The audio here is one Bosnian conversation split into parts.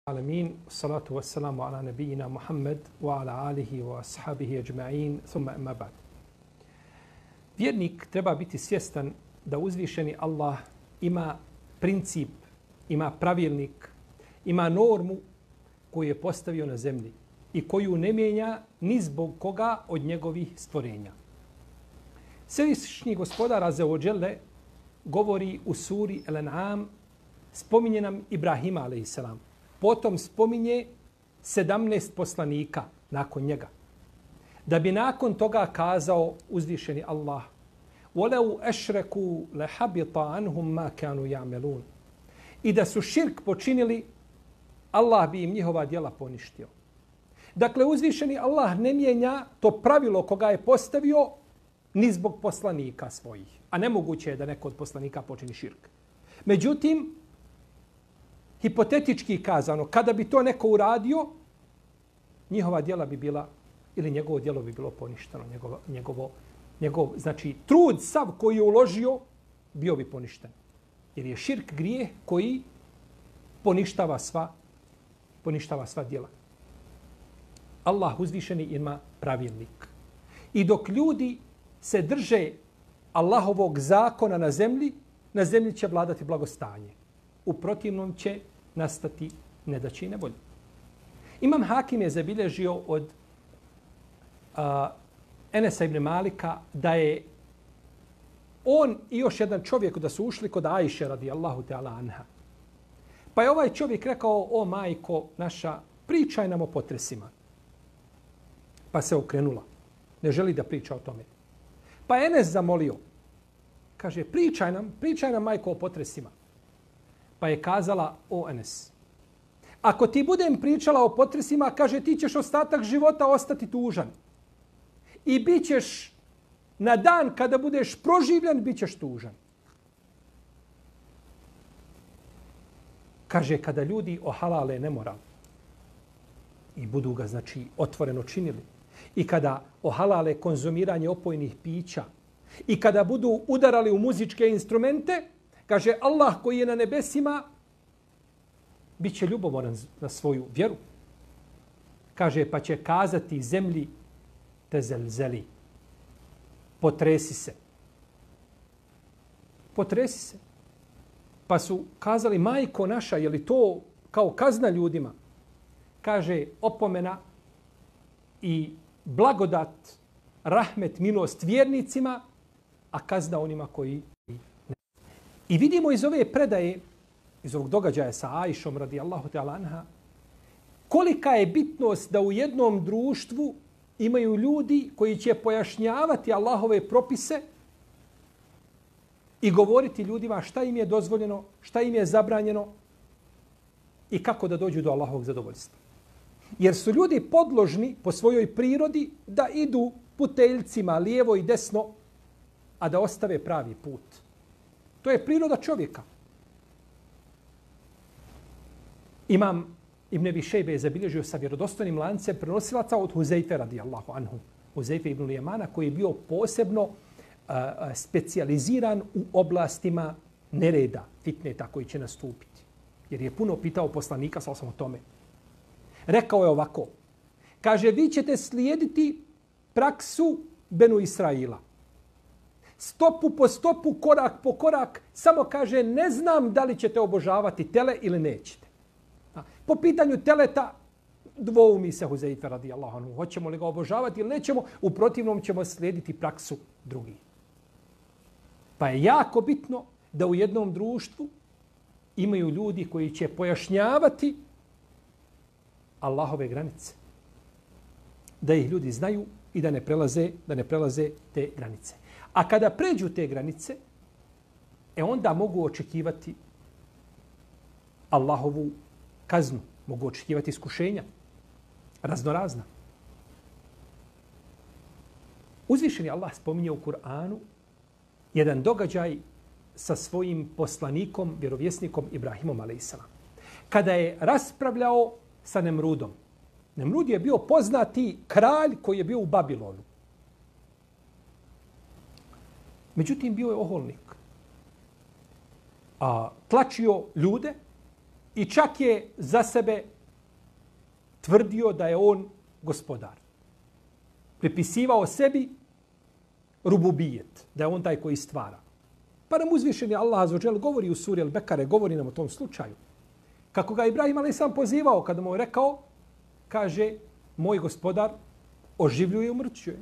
العالمين والصلاة والسلام على نبينا محمد وعلى آله وأصحابه أجمعين ثم أما بعد. Vjernik treba biti svjestan da uzvišeni Allah ima princip, ima pravilnik, ima normu koju je postavio na zemlji i koju ne mijenja ni zbog koga od njegovih stvorenja. Svevišnji gospodar Azza wa Jalla govori u suri Al-An'am, spominje nam Ibrahima a.s. Potom spominje 17 poslanika nakon njega. Da bi nakon toga kazao uzvišeni Allah: وَلَوْ أَشْرَكُوا لَحَبِطَ عَنْهُمْ مَا كَانُوا يَعْمَلُونَ. I da su širk počinili, Allah bi im njihova djela poništio. Dakle, uzvišeni Allah ne mijenja to pravilo koga je postavio ni zbog poslanika svojih. A nemoguće je da neko od poslanika počini širk. Međutim, hipotetički kazano, kada bi to neko uradio, njihova djela bi bila, ili njegovo djelo bi bilo poništeno. Njegov, znači, trud sav koji je uložio, bio bi poništen. Jer je širk grijeh koji poništava sva djela. Allah uzvišeni ima pravilnik. I dok ljudi se drže Allahovog zakona na zemlji će vladati blagostanje. U protivnom će nastati nedaće i nevolje. Imam Hakim je zabilježio od Enesa ibn Malika da je on i još jedan čovjek da su ušli kod Ajše radijallahu ta'ala anha. Pa je ovaj čovjek rekao: o majko naša, pričaj nam o potresima. Pa se okrenula. Ne želi da priča o tome. Pa Enes zamolio. Kaže: pričaj nam majko o potresima. Pa je kazala: o Enes, ako ti budem pričala o potresima, kaže, ti ćeš ostatak života ostati tužan. I bit ćeš na dan kada budeš proživljen, bit ćeš tužan. Kaže, kada ljudi ohalale nemoral i budu ga, znači, otvoreno činili, i kada ohalale konzumiranje opojnih pića, i kada budu udarali u muzičke instrumente, kaže, Allah koji je na nebesima bit će ljubomoran na svoju vjeru. Kaže, pa će kazati zemlji: te zelzeli, potresi se. Potresi se. Pa su kazali: majko naša, je li to kao kazna ljudima? Kaže, opomena i blagodat, rahmet, milost vjernicima, a kazna onima koji ne. I vidimo iz ove predaje, iz ovog događaja sa Ajšom radijallahu ta'ala anha, kolika je bitnost da u jednom društvu imaju ljudi koji će pojašnjavati Allahove propise i govoriti ljudima šta im je dozvoljeno, šta im je zabranjeno i kako da dođu do Allahovog zadovoljstva. Jer su ljudi podložni po svojoj prirodi da idu puteljcima lijevo i desno, a da ostave pravi put. To je priroda čovjeka. Imam Ibn Abi Šejbe je zabilježio sa vjerodostojnim lancem prenosilaca od Huzejfe radijallahu anhu. Huzejfe ibn Lijemana, koji je bio posebno specijaliziran u oblastima nereda, fitneta koji će nastupiti. Jer je puno pitao poslanika sa o tome. Rekao je ovako. Kaže, vi ćete slijediti praksu Benu Israila. Stopu po stopu, korak po korak, samo kaže, ne znam da li ćete obožavati tele ili nećete. Po pitanju teleta dvoumi se Huzejfe radijallahu anhu. Hoćemo li ga obožavati ili nećemo, u protivnom ćemo slijediti praksu drugih. Pa je jako bitno da u jednom društvu imaju ljudi koji će pojašnjavati Allahove granice. Da ih ljudi znaju i da ne prelaze te granice. A kada pređu te granice, onda mogu očekivati Allahovu kaznu, mogu očekivati iskušenja, raznorazna. Uzvišeni Allah spominje u Kur'anu jedan događaj sa svojim poslanikom, vjerovjesnikom Ibrahimom a.s. Kada je raspravljao sa Nemrudom. Nemrud je bio poznati kralj koji je bio u Babilonu. Međutim, bio je oholnik. Tlačio ljude i čak je za sebe tvrdio da je on gospodar. Pripisivao sebi rububijet, da je on taj koji stvara. Pa nam uzvišeni Allah azza wa dželle govori u suri Al-Bekare, govori nam o tom slučaju. Kako ga Ibrahim a.s. pozivao, kada mu je rekao, kaže, moj gospodar oživljuje i umrćuje.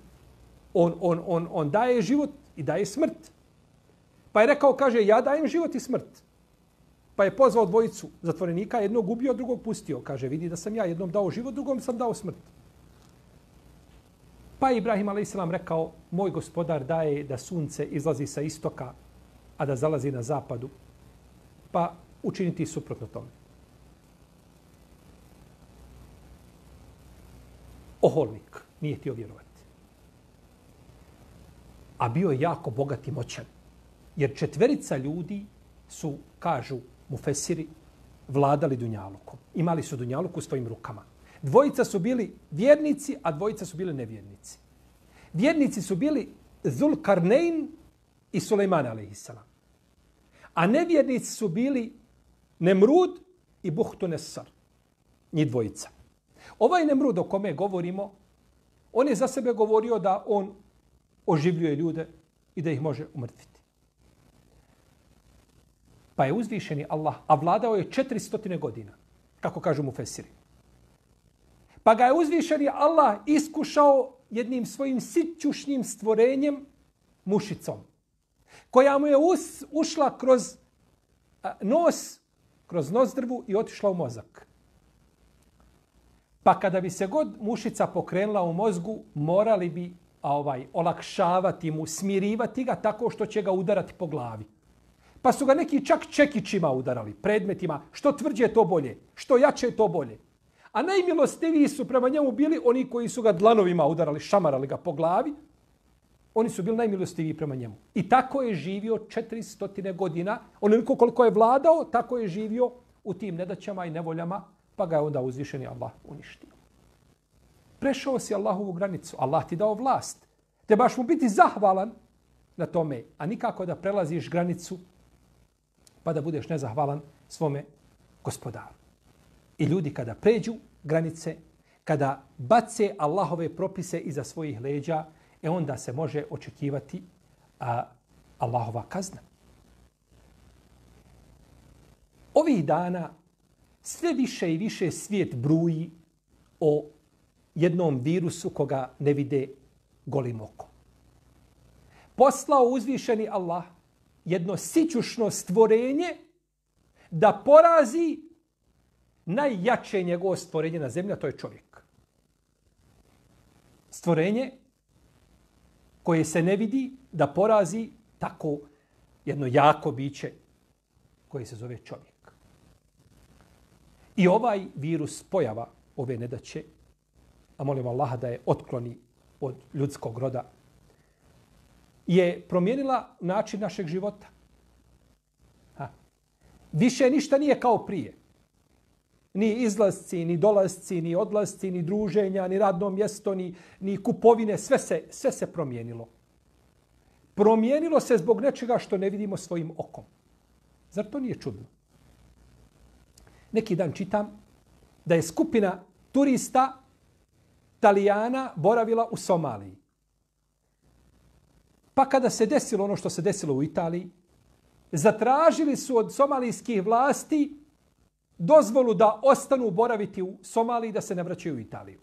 On daje život i daje smrt. Pa je rekao, kaže, ja dajem život i smrt. Pa je pozvao dvojicu zatvorenika, jednog ubio, drugog pustio. Kaže, vidi da sam ja jednom dao život, drugom sam dao smrt. Pa je Ibrahim a.s. rekao, moj gospodar daje da sunce izlazi sa istoka, a da zalazi na zapadu. Pa učiniti suprotno tome. Oholnik, nije htio vjerovati. A bio je jako bogat i moćan. Jer 4 ljudi su, kažu mufesiri, vladali dunjalukom. Imali su dunjaluk u svojim rukama. 2 su bili vjernici, a 2 su bili nevjernici. Vjernici su bili Zulkarnein i Sulejman a.s. A nevjernici su bili Nemrud i Buhtunesar. Njih 2. Ovaj Nemrud o kome govorimo, on je za sebe govorio da on oživljuje ljude i da ih može umrtviti. Pa je uzvišeni Allah, a vladao je 400 godina, kako kažu mufesiri. Pa ga je uzvišeni Allah iskušao jednim svojim sićušnjim stvorenjem, mušicom, koja mu je ušla kroz nos, kroz nozdrvu i otišla u mozak. Pa kada bi se god mušica pokrenula u mozgu, morali bi olakšavati mu, smirivati ga tako što će ga udarati po glavi. Pa su ga neki čak čekićima udarali, predmetima, što tvrđe to bolje, što jače to bolje. A najmilostiviji su prema njemu bili oni koji su ga dlanovima udarali, šamarali ga po glavi. Oni su bili najmilostiviji prema njemu. I tako je živio 400 godina. Onoliko koliko je vladao, tako je živio u tim nedaćama i nevoljama, pa ga je onda uzvišeni Allah uništio. Prešao si Allahovu granicu. Allah ti dao vlast. Trebaš mu biti zahvalan na tome, a nikako da prelaziš granicu pa da budeš nezahvalan svome gospodaru. I ljudi kada pređu granice, kada bace Allahove propise iza svojih leđa, onda se može očekivati Allahova kazna. Ovih dana sve više i više svijet bruji o jednom virusu koga ne vide golim okom. Poslao uzvišeni Allah jedno sićušno stvorenje da porazi najjače njegovo stvorenje na zemlji, a to je čovjek. Stvorenje koje se ne vidi da porazi tako jedno jako biće koje se zove čovjek. I ovaj virus, pojava ove nedaće, a molim Allaha da je otkloni od ljudskog roda, je promijenila način našeg života. Više ništa nije kao prije. Ni izlasci, ni dolasci, ni odlasci, ni druženja, ni radno mjesto, ni kupovine, sve se promijenilo. Promijenilo se zbog nečega što ne vidimo svojim okom. Zar to nije čudno? Neki dan čitam da je skupina turista Talijana boravila u Somaliji. Pa kada se desilo ono što se desilo u Italiji, zatražili su od somalijskih vlasti dozvolu da ostanu boraviti u Somaliji, da se ne vraćaju u Italiju.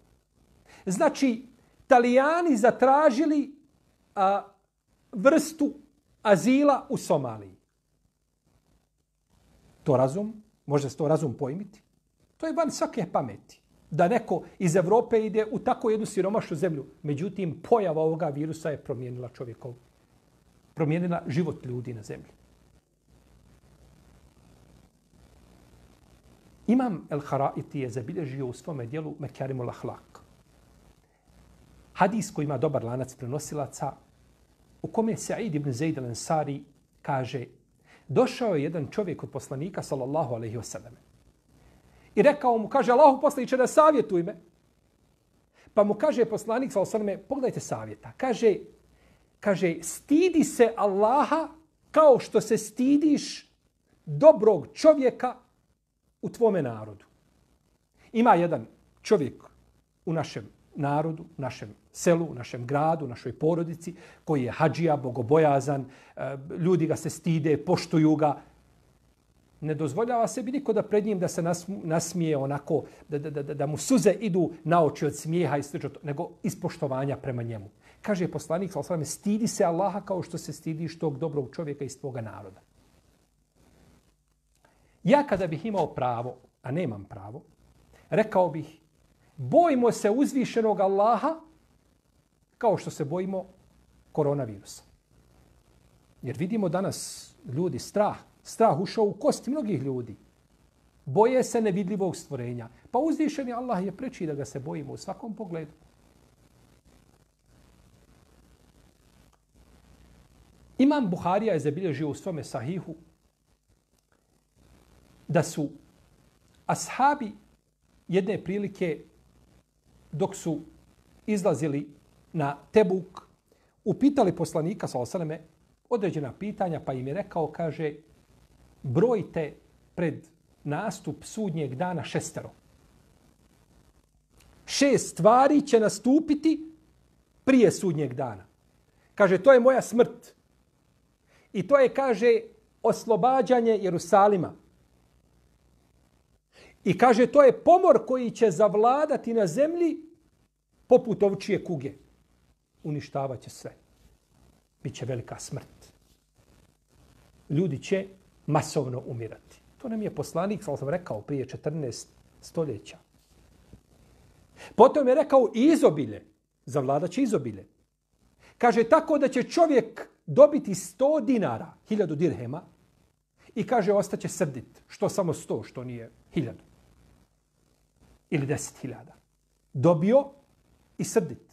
Znači, Talijani zatražili vrstu azila u Somaliji. To razum? Može se to razum pojmiti? To je van svake pameti. Da neko iz Evrope ide u tako jednu siromašnu zemlju. Međutim, pojava ovoga virusa je promijenila čovjekov. Promijenila život ljudi na zemlji. Imam El-Haraiti je zabilježio u svome dijelu Mekarimul Ahlak. Hadis koji ima dobar lanac prenosilaca, u kome Sa'id ibn Zaid al-Ansari kaže: došao je jedan čovjek od poslanika sallallahu alejhi ve sellem i rekao mu, kaže, Allahu poslaniče, da savjetuj me. Pa mu kaže poslanik sallallahu alejhi ve sellem, pogledajte savjeta. Kaže, stidi se Allaha kao što se stidiš dobrog čovjeka u tvome narodu. Ima jedan čovjek u našem narodu, našem selu, našem gradu, našoj porodici, koji je hadžija, bogobojazan, ljudi ga se stide, poštuju ga, ne dozvoljava sebi niko da pred njim da se nasmije onako, da mu suze idu na oči od smijeha i slično, nego iz poštovanja prema njemu. Kaže poslanik, sallallahu alejhi ve sellem, stidi se Allaha kao što se stidiš tog dobrog čovjeka iz tvoga naroda. Ja kada bih imao pravo, a nemam pravo, rekao bih, bojimo se uzvišenog Allaha kao što se bojimo koronavirusa. Jer vidimo danas ljudi strah ušao u kosti mnogih ljudi. Boje se nevidljivog stvorenja. Pa uzvišeni Allah je preči da ga se bojimo u svakom pogledu. Imam Buharija je zabilježio u svome sahihu da su ashabi jedne prilike dok su izlazili na Tebuk upitali poslanika sallallahu alejhi ve selleme određena pitanja, pa im je rekao, kaže, brojte pred nastup sudnjeg dana 6. 6 stvari će nastupiti prije sudnjeg dana. Kaže, to je moja smrt. I to je, kaže, oslobađanje Jerusalima. I kaže, to je pomor koji će zavladati na zemlji poput ovčije kuge. Uništavaće sve. Biće velika smrt. Ljudi će masovno umirati. To nam je poslanik, sam rekao, prije 14 stoljeća. Potom je rekao i izobilje. Zavladaće izobilje. Kaže, tako da će čovjek dobiti 100 dinara, 1000 dirhema, i kaže, ostaće srdit. Što samo 100, što nije 1000. Ili 10.000. Dobio i srdit.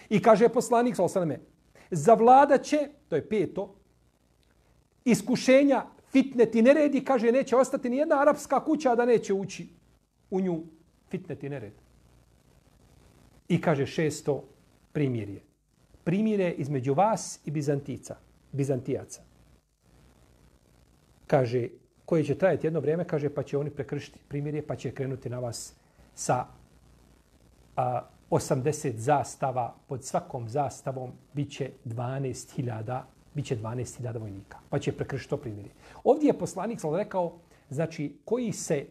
I kaže poslanik, sallallahu alejhi ve selleme, zavladaće, to je 5. iskušenja, fitnet i neredi, kaže, neće ostati ni jedna arapska kuća da neće ući u nju fitnet i nered. I kaže 6. primirje. Primirje između vas i Bizantijaca. Kaže, koji će trajati jedno vrijeme, kaže, pa će oni prekršiti primirje, pa će krenuti na vas sa 80 zastava. Pod svakom zastavom biće 12.000 vojnika. Pa će prekršiti to primirje. Ovdje je poslanik rekao, znači, koji 6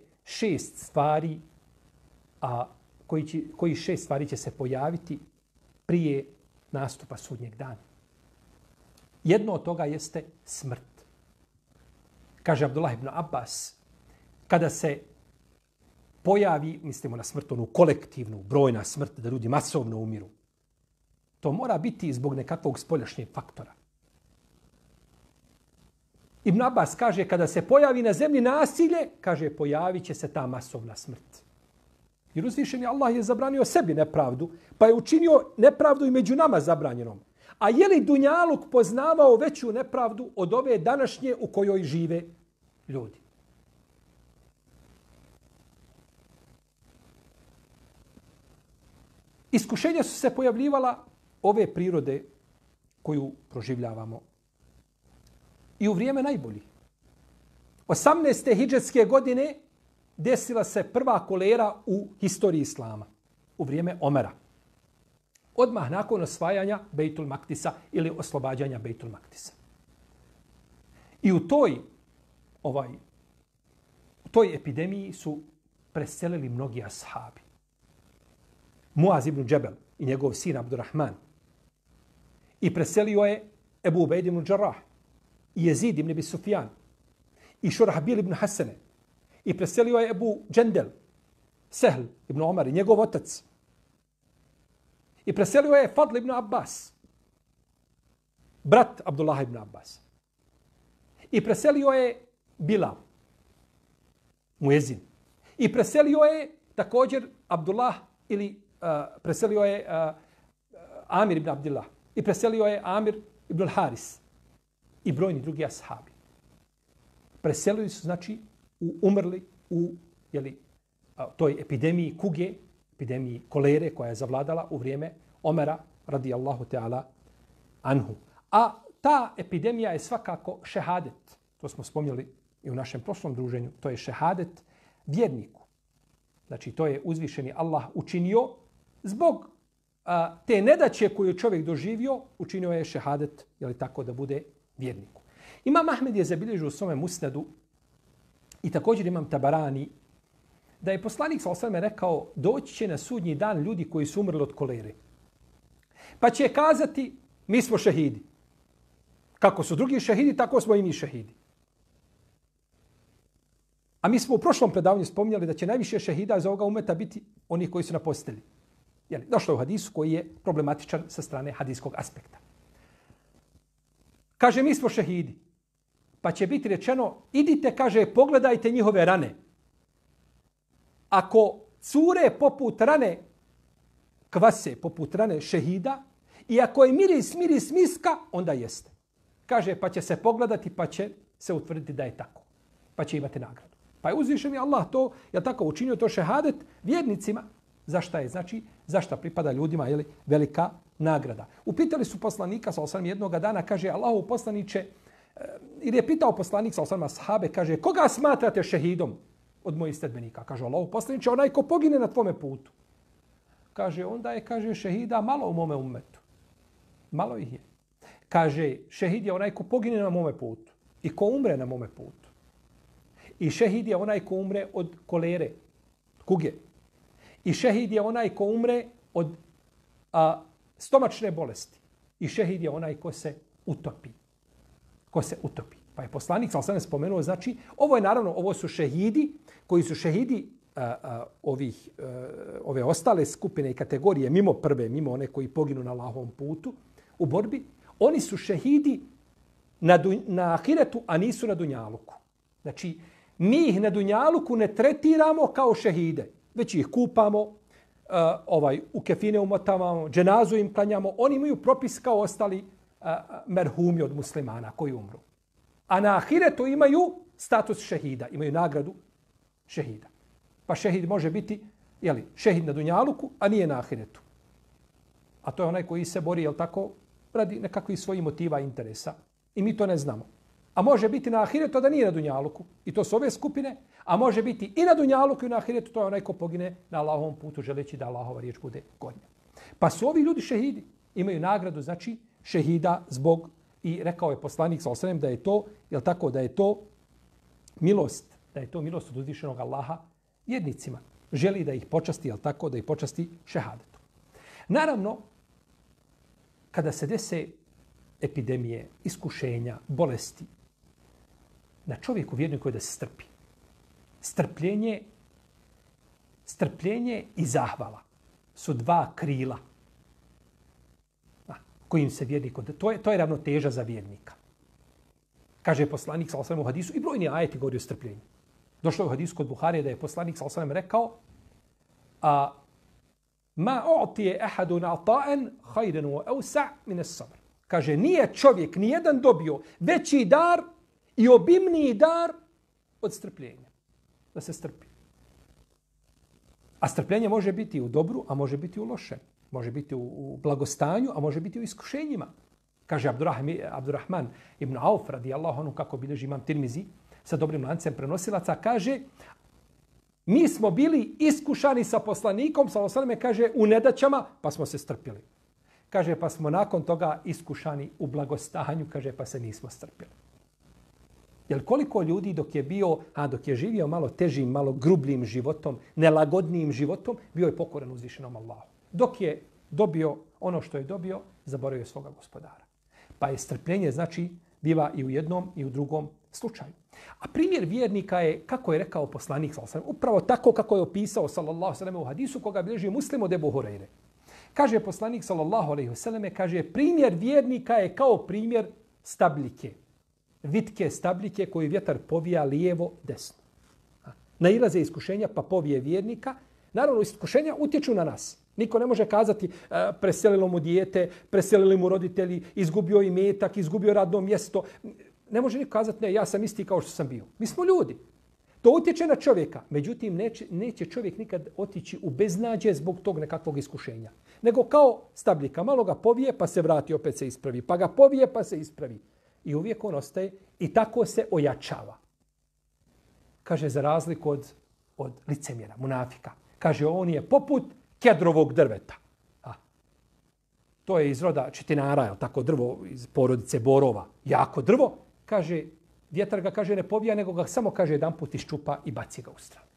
stvari će se pojaviti prije nastupa sudnjeg dana. Jedno od toga jeste smrt. Kaže Abdullah ibn Abbas, kada se pojavi, mislimo na smrt, onu kolektivnu, brojna smrt, da ljudi masovno umiru, to mora biti zbog nekakvog spoljašnjeg faktora. Ibn Abbas kaže, kada se pojavi na zemlji nasilje, kaže, pojavit će se ta masovna smrt. Jer uzvišeni Allah je zabranio sebi nepravdu, pa je učinio nepravdu i među nama zabranjenom. A je li Dunjaluk poznavao veću nepravdu od ove današnje u kojoj žive ljudi? Iskušenja su se pojavljivala ove prirode koju proživljavamo i u vrijeme najboljih. 18. hidžetske godine desila se prva kolera u historiji Islama, u vrijeme Omera. Odmah nakon osvajanja Bejtul Maktisa ili oslobađanja Bejtul Maktisa. I u toj epidemiji su preselili mnogi ashabi. Muaz ibn Džebel i njegov sin Abdurrahman. I preselio je Ebu Ubejd ibn Džarrah i Jezid ibn Abi Sufjan i Šurahbil ibn Hasane. I preselio je Ebu Džendel, Sehl ibn Omar i njegov otac. I preselio je Fadl ibn Abbas, brat Abdullah ibn Abbas. I preselio je Bilal, muezin. I preselio je također Abdullah preselio je Amir ibn Abdillah. I preselio je Amir ibn Haris i brojni drugi ashabi. Preselili su, znači, umrli u toj epidemiji kuge, epidemiji kolere koja je zavladala u vrijeme Omera radijallahu ta'ala anhu. A ta epidemija je svakako šehadet. To smo spomnjali i u našem prošlom druženju. To je šehadet vjerniku. Znači, to je uzvišeni Allah učinio zbog te nedaće koju čovjek doživio, učinio je šehadet, jeli tako, da bude vjerniku. Imam Ahmed je zabilježio u svome musnadu i također Imam Tabarani da je poslanik sallallahu alejhi ve sellem rekao doći će na sudnji dan ljudi koji su umrli od kolere. Pa će kazati mi smo šehidi. Kako su drugi šehidi, tako smo i mi šehidi. A mi smo u prošlom predavanju spominjali da će najviše šehida za ovoga umeta biti oni koji su na postelji. Jeli, došlo je u hadisu koji je problematičan sa strane hadijskog aspekta. Kaže, mi smo šehidi. Pa će biti rečeno, idite, kaže, pogledajte njihove rane. Ako cure poput rane kvase, poput rane šehida, i ako je miris miska, onda jeste. Kaže, pa će se pogledati, pa će se utvrditi da je tako. Pa će imati nagradu. Pa je uzvišen Allah to, je tako učinio to šehadet vjernicima. Zašta je? Znači, zašta pripada ljudima, je li velika nagrada. Upitali su poslanika, sallallahu alejhi ve sellem, jednoga dana, kaže, Allahu poslanice, ili je pitao poslanik, sallallahu alejhi ve sellem, ashabe, kaže, koga smatrate šehidom od mojih sledbenika? Kaže, Allahu poslanice, onaj ko pogine na tvome putu. Kaže, onda je, kaže, šehida malo u mome ummetu. Malo ih je. Kaže, šehid je onaj ko pogine na mome putu i ko umre na mome putu. I šehid je onaj ko umre od kolere, kuge. I šehid je onaj ko umre od stomačne bolesti. I šehid je onaj ko se utopi. Ko se utopi. Pa je poslanik sallallahu alejhi ve sellem spomenuo, znači, ovo je naravno, ovo su šehidi koji su šehidi ove ostale skupine i kategorije, mimo prve, mimo one koji poginu na Allahovom putu u borbi, oni su šehidi na ahiretu, a nisu na dunjaluku. Znači, mi ih na dunjaluku ne tretiramo kao šehide, već ih kupamo, u kefine umotavamo, dženazu im klanjamo, oni imaju propis kao ostali merhumi od muslimana koji umru. A na ahiretu imaju status šehida, imaju nagradu šehida. Pa šehid može biti šehid na dunjaluku, a nije na ahiretu. A to je onaj koji se bori, tako, radi nekakvih svojih motiva i interesa. I mi to ne znamo. A može biti na ahiretu da nije na dunjaluku. I to su ove skupine. A može biti i na dunjaluku i na ahiretu. To je onaj ko pogine na Allahovom putu želeći da Allahova riječ bude gornja. Pa su ovi ljudi šehidi. Imaju nagradu, znači, šehida zbog, i rekao je poslanik sallallahu alejhi ve sellem da je to, tako, da je to milost, da je to milost od uzvišenog Allaha vjernicima. Želi da ih počasti, tako, da ih počasti šehadetu. Naravno, kada se dese epidemije, iskušenja, bolesti, na čovjeku vjerniku je da se strpi. Strpljenje i zahvala su dva krila kojim se vjernik... To je ravnoteža za vjernika. Kaže poslanik sallallahu alejhi ve sellem u hadisu, i brojni ajeti govori o strpljenju. Došlo je u hadisu kod Buharije da je poslanik sallallahu alejhi ve sellem rekao ma u'tiye ahadun ata'an khayran wa awsa' min as-sabr. Kaže, nije čovjek nijedan dobio veći dar i obimniji dar od strpljenja. Da se strpi. A strpljenje može biti u dobru, a može biti u lošem. Može biti u blagostanju, a može biti u iskušenjima. Kaže Abdurrahman ibn Auf, radijallahu anhu, kako bilježi Imam Tirmizi, sa dobrim lancem prenosilaca, kaže, mi smo bili iskušani sa poslanikom, sallallahu alejhi ve sellem, kaže, u nedaćama, pa smo se strpili. Kaže, pa smo nakon toga iskušani u blagostanju, kaže, pa se nismo strpili. Jer koliko ljudi dok je živio malo težim, malo grubljim životom, nelagodnijim životom, bio je pokoran uzvišenom Allahu. Dok je dobio ono što je dobio, zaboravio svoga gospodara. Pa je strpljenje, znači, biva i u jednom i u drugom slučaju. A primjer vjernika je, kako je rekao poslanik, upravo tako kako je opisao, sallallahu alejhi ve sellem, u hadisu koga bilježi Muslim od Ebu Hurajre. Kaže poslanik, sallallahu alejhi ve selleme, kaže, primjer vjernika je kao primjer stabljike. Vitke stabljike koju vjetar povija lijevo, desno. Nailaze iskušenja, pa povije vjernika. Naravno, iskušenja utječu na nas. Niko ne može kazati preselilo mu dijete, preselili mu roditelji, izgubio imetak, izgubio radno mjesto. Ne može niko kazati, ne, ja sam isti kao što sam bio. Mi smo ljudi. To utječe na čovjeka. Međutim, neće čovjek nikad otići u beznađe zbog tog nekakvog iskušenja. Nego kao stabljika. Malo ga povije, pa se vrati, opet se ispravi. Pa ga povije, pa se ispravi. I uvijek on ostaje i tako se ojačava. Kaže, za razliku od licemjera, munafika. Kaže, on je poput kedrovog drveta. To je iz roda čitinara, je tako, drvo iz porodice borova. Jako drvo. Kaže, vjetar ga, kaže, ne pobija, nego ga samo, kaže, jedan put iščupa i baci ga u stranu.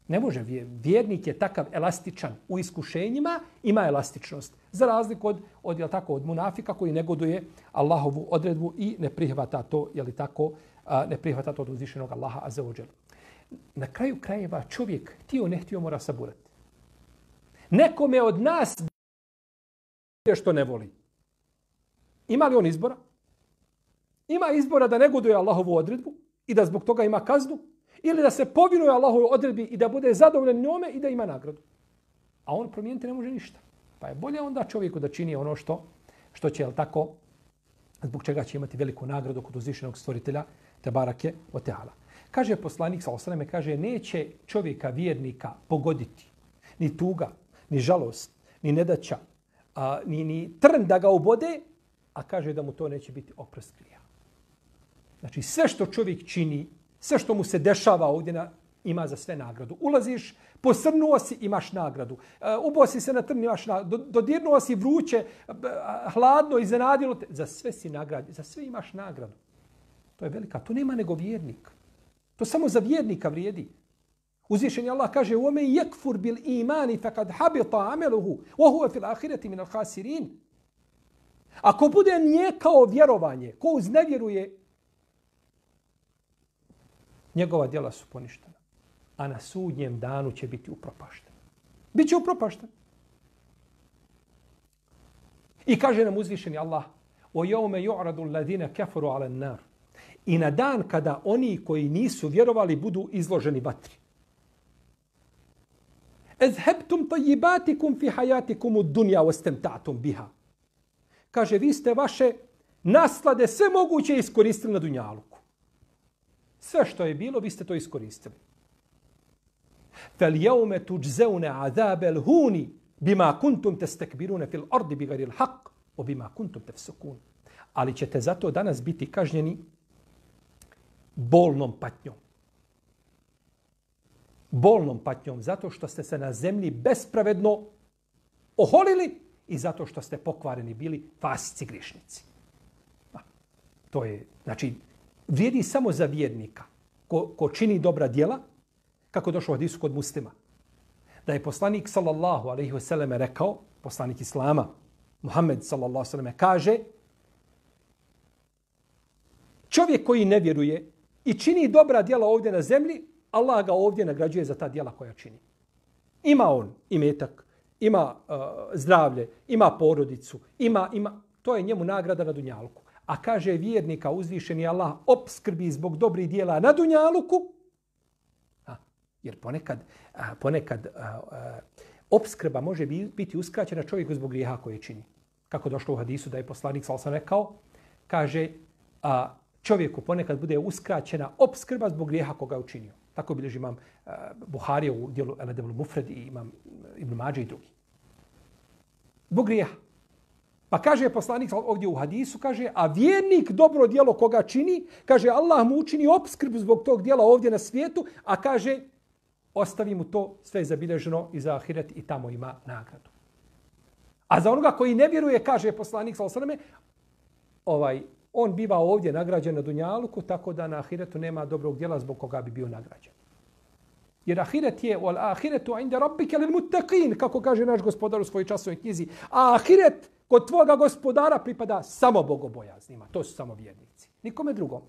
Ne može. Vjernik je takav elastičan u iskušenjima, ima elastičnost. Za razliku od munafika koji negoduje Allahovu odredbu i ne prihvata to, ne prihvata to od uzvišenog Allaha azza wa dželle. Na kraju krajeva čovjek, htio ne htio, mora saburati. Nekome od nas što ne voli. Ima li on izbora? Ima izbora da negoduje Allahovu odredbu i da zbog toga ima kaznu, ili da se povinuje Allahovoj odredbi i da bude zadovoljan njome i da ima nagradu. A on promijeniti ne može ništa. Pa je bolje onda čovjeku da čini ono što će, tako, zbog čega će imati veliku nagradu kod uzvišenog stvoritelja, Tebarake o Teala. Kaže poslanik, sallallahu alejhi ve sellem, kaže, neće čovjeka vjernika pogoditi ni tuga, ni žalost, ni nedaća, ni trn da ga obode, a kaže da mu to neće biti oprost grija. Znači sve što čovjek čini, sve što mu se dešava ovdje ima za sve nagradu. Ulaziš, posrnuo si, imaš nagradu. Ubosi se na trn, imaš nagradu. Dodirnuo si vruće, hladno, iznenadilo te. Za sve si nagrađen, za sve imaš nagradu. To je velika, to nema nego vjernik. To samo za vjernika vrijedi. Uzvišeni Allah kaže: "وَمَنْ يَكْفُرْ بِالْإِيمَانِ فَقَدْ حَبِطَ عَمَلُهُ وَهُوَ فِي الْآخِرَةِ مِنَ الْخَاسِرِينَ." Ako bude nijekao vjerovanje, ko uznevjeruje, njegova djela su poništena. A na sudnjem danu će biti upropašten. Biće upropašten. I kaže nam uzvišeni Allah: وَيَوْمَ يُعْرَضُ الَّذِينَ كَفَرُوا عَلَى النَّارِ. I na dan kada oni koji nisu vjerovali budu izloženi vatri. اذهبتم طيباتكم في حياتكم الدنيا واستمتعتم بها. Kaže, vi ste vaše naslade sve moguće iskoristili na dunjaluku. Sve što je bilo, vi ste to iskoristili. فَالْيَوْمَ تُجْزَوْنَ عَذَابَ الْهُونِ بِمَا كُنْتُمْ تَسْتَكْبِرُونَ فِي الْأَرْضِ بِغَيْرِ الْحَقِّ وَبِمَا كُنْتُمْ تَفْسُقُونَ. Ali ćete zato danas biti kažnjeni bolnom patnjom. Bolnom patnjom zato što ste se na zemlji bespravedno oholili i zato što ste pokvareni bili fasici grišnici. To je, znači, vrijedi samo za vjernika ko čini dobra djela, kako došlo u hadisu kod Muslima. Da je poslanik sallallahu alejhi ve selleme rekao, poslanik Islama, Muhammed sallallahu alejhi ve selleme kaže: čovjek koji ne vjeruje i čini dobra djela ovdje na zemlji, Allah ga ovdje nagrađuje za ta djela koja čini. Ima on imetak, ima zdravlje, ima porodicu, ima, to je njemu nagrada na dunjaluku. A kaže vjernika uzvišeni Allah opskrbi zbog dobrih djela na dunjaluku, jer ponekad opskrba može biti uskraćena čovjeku zbog grijeha koje čini. Kako došlo u hadisu da je poslanik sallallahu alejhi ve sellem rekao, kaže, čovjeku ponekad bude uskraćena opskrba zbog grijeha koga je učinio. Tako bilježi imam Buharija u dijelu El-Adabul Mufrad i imam Ibn Mađe i drugi. Zbog grijeha. Pa kaže poslanik ovdje u hadisu, kaže, a vjernik dobro djelo koga čini, kaže, Allah mu učini opskrbu zbog tog djela ovdje na svijetu, a kaže, ostavi mu to sve zabilježeno i za ahiret i tamo ima nagradu. A za onoga koji ne vjeruje, kaže poslanik sallallahu alejhi ve selleme, on biva ovdje nagrađen na dunjaluku, tako da na ahiretu nema dobrog djela zbog koga bi bio nagrađen. Jer ahiret je wal ahiretu inda rabbika lil muttaqin, kako kaže naš gospodar u svojoj časovnoj knjizi. A ahiret kod tvoga gospodara pripada samo bogobojaznima. To su samo vjernici. Nikome drugom.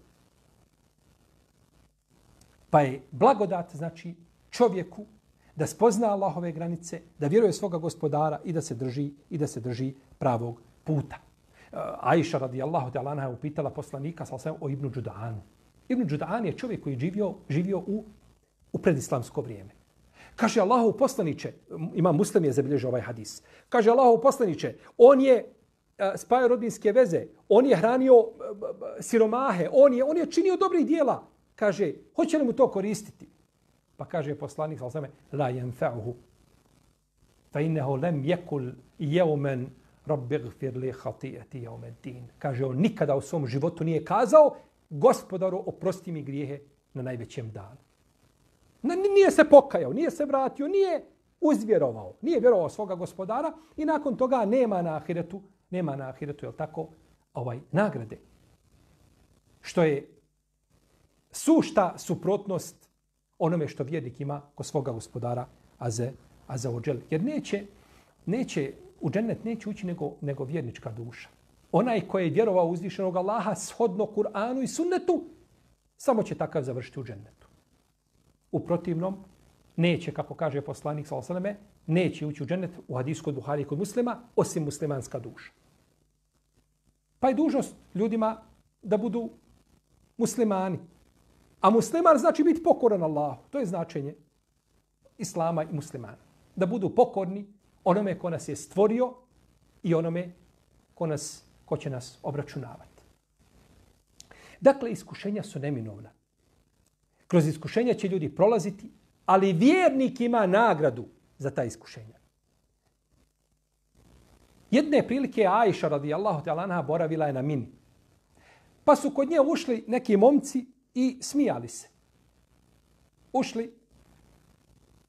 Pa je blagodat, znači, čovjeku da spozna Allahove granice, da vjeruje svoga gospodara i da se drži pravog puta. Aisha radijallahu ta'ala anha je upitala poslanika sallallahu o Ibnu Đudanu. Ibnu Đudan je čovjek koji je živio u predislamsko vrijeme. Kaže Allahov poslanice, Imam Muslim je zabilježio ovaj hadis. Kaže Allahov poslanice, on je spajao rodbinske veze, on je hranio siromahe, on je činio dobrih djela. Kaže, hoće li mu to koristiti? Pa kaže poslanik sallallahu la yanfa'uhu fa innahu lam yakul yawman Rabbi gfir li khati'ati yawm ad-din. Kaže, on nikada u svom životu nije kazao, gospodaru, oprosti mi grijehe na najvećem danu. Nije se pokajao, nije se vratio, nije uzvjerovao, nije vjerovao svoga gospodara i nakon toga nema na ahiretu, jel tako, nagrade. Što je sušta suprotnost onome što vjernik ima kod svoga gospodara Azza wa Jal. Jer neće u džennet neće ući nego vjernička duša. Onaj koji je vjerovao uzvišenog Allaha shodno Kur'anu i sunnetu, samo će takav završiti u džennetu. U protivnom, neće, kako kaže poslanik sallallahu alejhi ve selleme, neće ući u džennet u hadisu kod Buhari i kod Muslima, osim muslimanska duša. Pa je dužnost ljudima da budu muslimani. A musliman znači biti pokoran Allahu. To je značenje islama i muslimana. Da budu pokorni onome ko nas je stvorio i onome ko će nas obračunavati. Dakle, iskušenja su neminovna. Kroz iskušenja će ljudi prolaziti, ali vjernik ima nagradu za ta iskušenja. Jedne prilike Ajša radijallahu ta'ala anha boravila je na Mini. Pa su kod nje ušli neki momci i smijali se. Ušli,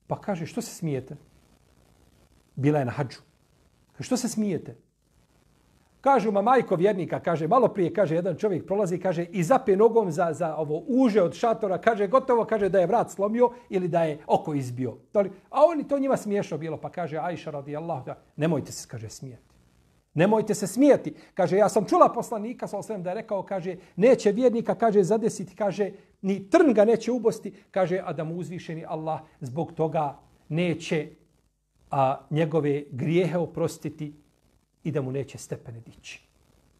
pa kaže, što se smijete? Bila je na hadžu. Što se smijete? Kažu, majko vjernika, kaže, malo prije, kaže, jedan čovjek prolazi, kaže, i zape nogom za ovo uže od šatora, kaže, gotovo, kaže, da je vrat slomio ili da je oko izbio. A oni to njima smiješno bilo, pa kaže, Ajša radijallahu ta'ala, nemojte se, kaže, smijeti. Nemojte se smijeti. Kaže, ja sam čula poslanika, da je rekao, kaže, neće vjernika, kaže, zadesiti, kaže, ni trn ga neće ubosti, kaže, a da mu uzvišeni Allah zbog toga neće njegove grijehe oprostiti i da mu neće stepene dići.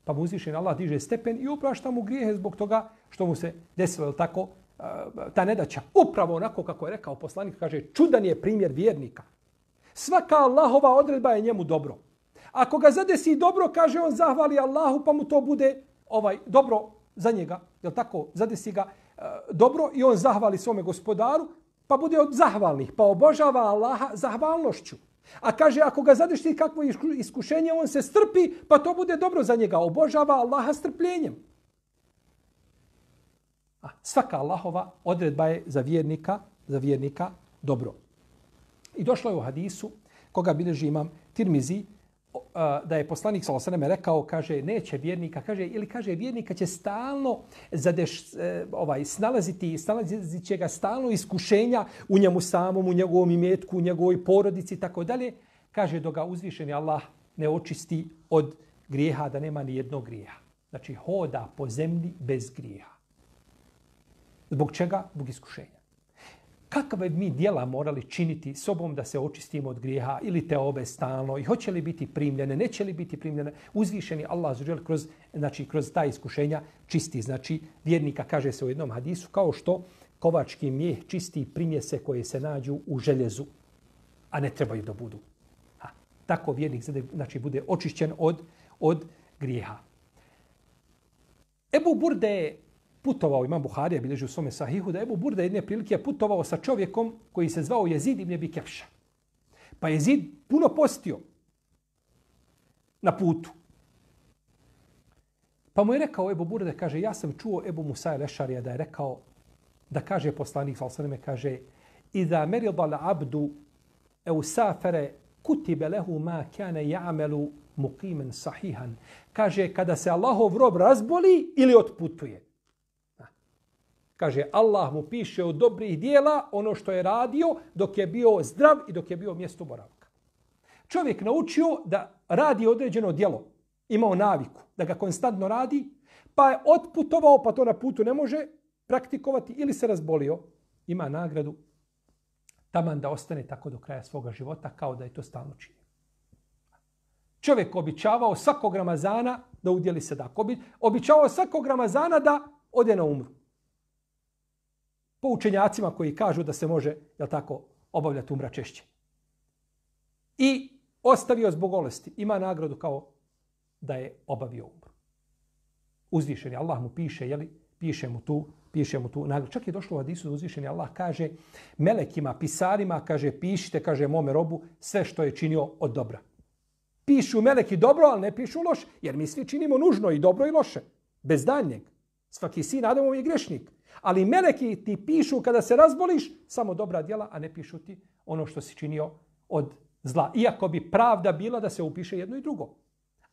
Pa mu uzvišeni Allah diže stepen i uprašta mu grijehe zbog toga što mu se desilo, tako, ta nedaća. Upravo onako kako je rekao poslanik, kaže, čudan je primjer vjernika. Svaka Allahova odredba je njemu dobro. Ako ga zadesi dobro, kaže, on zahvali Allahu, pa mu to bude dobro za njega. Jel tako? Zadesi ga dobro i on zahvali svome gospodaru, pa bude od zahvalnih, pa obožava Allaha zahvalnošću. A kaže, ako ga zadesi kakvo iskušenje, on se strpi, pa to bude dobro za njega. Obožava Allaha strpljenjem. Svaka Allahova odredba je za vjernika dobro. I došlo je u hadisu, koga bilježi imam Tirmizi, da je poslanik sallallahu alejhi ve sellem rekao, kaže, neće vjernika, kaže, ili kaže, vjernika će stalno snalazit će ga stalno iskušenja u njemu samom, u njegovom imetku, u njegovoj porodici, tako dalje. Kaže, dok ga uzvišeni Allah ne očisti od grijeha, da nema ni jednog grijeha. Znači, hoda po zemlji bez grijeha. Zbog čega? Zbog iskušenja. Kakve mi djela morali činiti sobom da se očistimo od grijeha ili te obe stalno i hoće li biti primljene, neće li biti primljene, uzvišeni Allah kroz ta iskušenja čisti. Znači, vjernika, kaže se u jednom hadisu, kao što kovački mijeh čisti primjese koje se nađu u željezu, a ne trebaju da budu. Tako vjernik bude očišćen od grijeha. Ebu Burde je putovao, imam Buharija bilježi u svome sahihu, da Ebu Burda jedne prilike putovao sa čovjekom koji se zvao Jezid ibn Abi Kefša. Pa Jezid puno postio na putu. Pa mu je rekao Ebu Burda, kaže, ja sam čuo Ebu Musa el-Ešarija da je rekao, da kaže poslanik, kaže, Iza merida l'abdu eu safere kutibe lehu ma kane ja'melu muqimen sahihan. Kaže, kada se Allahov rob razboli ili otputuje. Kaže, Allah mu piše od dobrih dijela ono što je radio dok je bio zdrav i dok je bio mjesto boravka. Čovjek naučio da radi određeno djelo, imao naviku da ga konstantno radi, pa je otputovao, pa to na putu ne može praktikovati ili se razbolio, ima nagradu taman da ostane tako do kraja svoga života kao da je to stalno činio. Čovjek običavao svakog Ramazana da udjeli sadaku. Običavao svakog Ramazana da ode na umru. Po učenjacima koji kažu da se može, jel tako, obavljati umra češće. I ostavio zbog bolesti. Ima nagradu kao da je obavio umru. Uzvišeni Allah mu piše, jeli, piše mu tu nagradu. Čak je došlo u hadisu da uzvišeni Allah kaže melekima, pisarima, kaže, pišite, kaže, mome robu sve što je činio od dobra. Pišu meleki dobro, ali ne pišu loše, jer mi svi činimo nužno i dobro i loše. Bez daljnjeg. Svaki sin Adamov je grešnik. Ali meleki ti pišu kada se razboliš samo dobra djela, a ne pišu ti ono što si činio od zla. Iako bi pravda bila da se upiše jedno i drugo.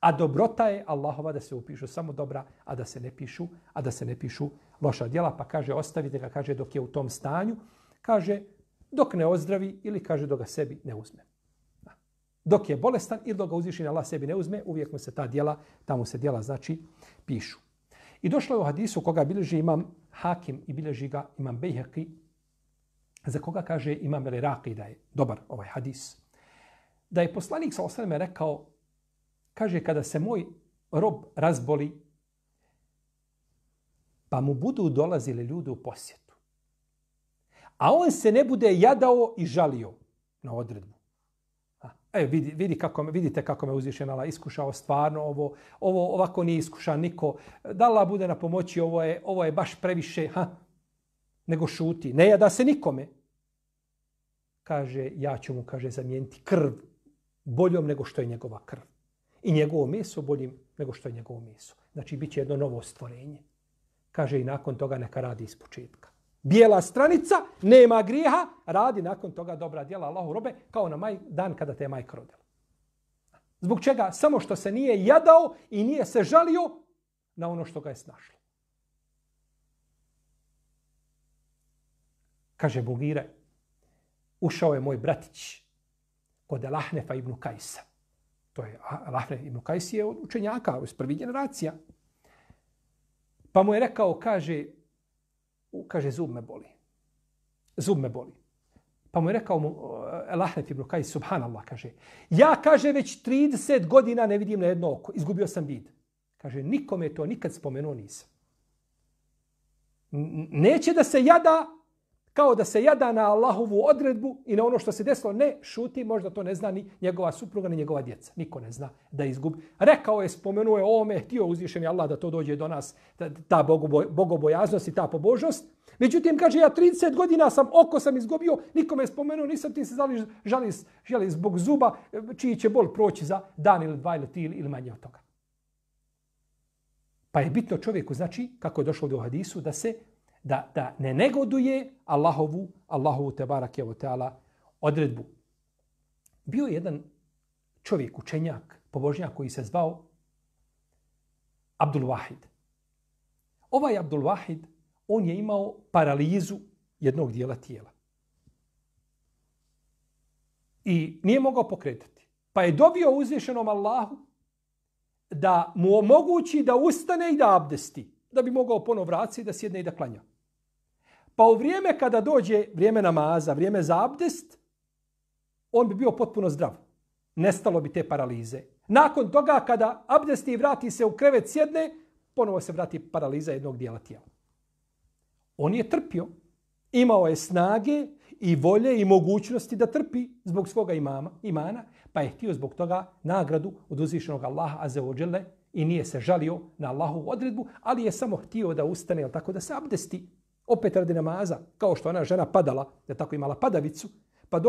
A dobrota je Allahova da se upišu samo dobra, a da se ne pišu loša djela. Pa kaže ostavite ga, kaže dok je u tom stanju, kaže dok ne ozdravi ili kaže dok ga sebi ne uzme. Dok je bolestan ili dok ga uzvišeni Allah sebi ne uzme, uvijek mu se ta djela, tamo se djela znači pišu. I došlo je u hadisu koga bilježi imam Hakim i bilježi ga imam Bejhaqi, za koga kaže imam Al-Iraqi da je dobar ovaj hadis. Da je poslanik sallallahu alejhi ve sellem rekao, kaže kada se moj rob razboli, pa mu budu dolazili ljudi u posjetu, a on se ne bude jadao i žalio na odredbu. Vidite kako me uzvišen Allah iskušao stvarno, ovo ovako nije iskušan niko. Da Allah bude na pomoći, ovo je baš previše, nego šuti. Ne jada se nikome. Kaže, ja ću mu, kaže, zamijeniti krv boljom nego što je njegova krv. I njegovo meso boljim nego što je njegovo meso. Znači, bit će jedno novo stvorenje. Kaže, i nakon toga neka radi iz početka. Bijela stranica, nema grijeha, radi nakon toga dobra djela Allahu robe, kao na dan kada te je majka rodila. Zbog čega? Samo što se nije jadao i nije se žalio na ono što ga je snašlo. Kaže Bugire, ušao je moj bratić kod Lahnefa ibn Kajsa. To je Lahnef ibn Kajs je od učenjaka, iz prvih generacija. Pa mu je rekao, kaže, zub me boli. Pa mu je rekao Lahnef ibn Kajs, subhanallah, kaže, ja, kaže, već 30 godina ne vidim na jedno oko, izgubio sam vid. Kaže, nikome to nikad spomenuo nisam. Neće da se jada, kao da se jada na Allahovu odredbu i na ono što se desilo. Ne, šuti, možda to ne zna ni njegova supruga, ni njegova djeca. Niko ne zna da izgubi. Rekao je, spomenuo je ovome, htio uzvišeni Allah da to dođe do nas, ta bogobojaznost i ta pobožnost. Međutim, kaže, ja 30 godina oko sam izgubio, nikome je spomenuo, nisam ti se žali zbog zuba, čiji će bol proći za dan ili dva ili tri ili manje od toga. Pa je bitno čovjeku, znači, kako je došlo do hadisu, da ne negoduje Allahovu tebarake ve taala odredbu. Bio je jedan čovjek, učenjak, pobožnjak koji se zvao Abdul Wahid. Ovaj Abdul Wahid, on je imao paralizu jednog dijela tijela. I nije mogao pokretati. Pa je dovio uzvišenom Allahu da mu omogući da ustane i da abdesti, da bi mogao ponovo vratiti, da sjedne i da klanja. Pa u vrijeme kada dođe vrijeme namaza, vrijeme za abdest, on bi bio potpuno zdrav. Nestalo bi te paralize. Nakon toga kada abdesti i vrati se u krevet, sjedne, ponovo se vrati paraliza jednog dijela tijela. On je trpio. Imao je snage i volje i mogućnosti da trpi zbog svoga imana, pa je htio zbog toga nagradu od uzvišenog Allaha azza wa dželle i nije se žalio na Allahovu odredbu, ali je samo htio da ustane, tako da se abdesti. Opet radi namaza, kao što ona žena padala, da tako imala padavicu, pa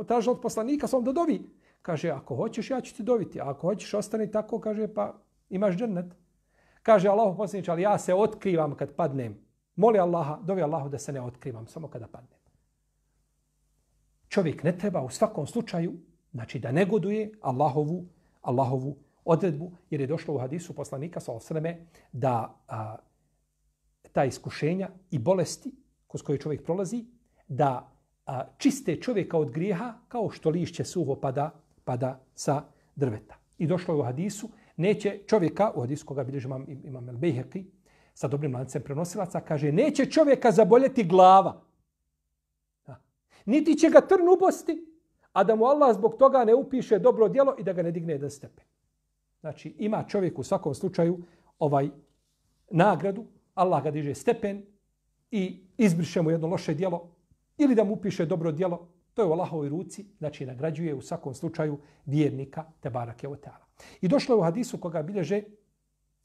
tražila od poslanika svom da dovi. Kaže, ako hoćeš, ja ću ti doviti. A ako hoćeš, ostani tako, kaže, pa imaš džennet. Kaže Allahu poslaniče, ali ja se otkrivam kad padnem. Moli Allaha, dovi Allahu da se ne otkrivam, samo kada padnem. Čovjek ne treba u svakom slučaju, znači da negoduje Allahovu odredbu, jer je došlo u hadisu poslanika sallallahu alejhi ve selleme da ta iskušenja i bolesti kroz koje čovjek prolazi, da čiste čovjeka od grijeha kao što lišće suho pada sa drveta. I došlo je u hadisu, neće čovjeka, u hadisu koga bilježi imam Al-Bejhaqi, sa dobrim lancem prenosilaca, kaže, neće čovjeka zaboljeti glava. Niti će ga trn ubosti, a da mu Allah zbog toga ne upiše dobro djelo i da ga ne digne jedan stepen. Znači, ima čovjek u svakom slučaju nagradu, Allah ga diže stepen i izbriše mu jedno loše djelo ili da mu upiše dobro djelo, to je u Allahovoj ruci, znači nagrađuje u svakom slučaju vjernika tebarake ve taala. I došlo je u hadisu koga bilježe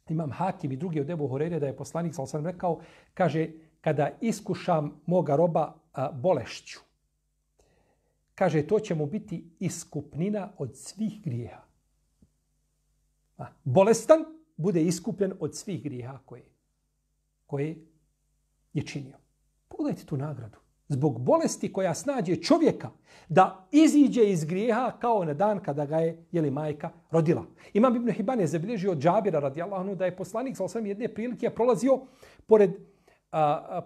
imam Hakim i drugi od Ebu Hurajre da je poslanik sallallahu alejhi ve sellem rekao, kaže, kada iskušam moga roba bolešću, kaže, to će mu biti iskupnina od svih grijeha. Bolestan bude iskupljen od svih grijeha koje je činio. Pogledajte tu nagradu. Zbog bolesti koja snađe čovjeka da iziđe iz grijeha kao na dan kada ga je majka rodila. Imam Ibn Hibban je zabilježio od Džabira radijallahu anhu da je poslanik sallallahu alejhi ve sellem jedne prilike prolazio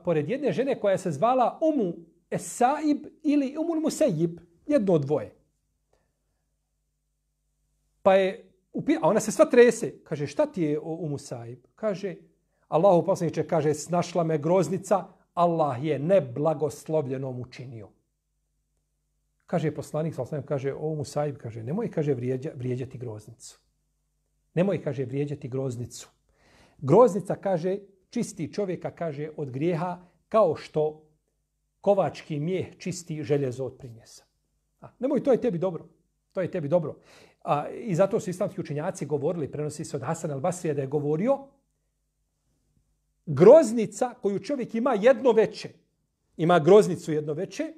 pored jedne žene koja se zvala Umu Es-Saib ili Umul Musejib, jedno od dvoje. Pa je, a ona se sva trese. Kaže, šta ti je Umu Saib? Kaže, Allahu poslaniče, kaže, snašla me groznica, Allah je neblagoslovljenom učinio. Kaže poslanik, kaže, o Umu Saib, kaže, nemoj, kaže, vrijeđati groznicu. Nemoj, kaže, vrijeđati groznicu. Groznica, kaže, čisti čovjeka, kaže, od grijeha kao što kovački mijeh čisti željezo od primjesa. Nemoj, to je tebi dobro. To je tebi dobro. I zato su islamski učenjaci govorili, prenosi se od Hasan al-Basrija da je govorio, groznica koju čovjek ima jedno veče, ima groznicu jedno veče,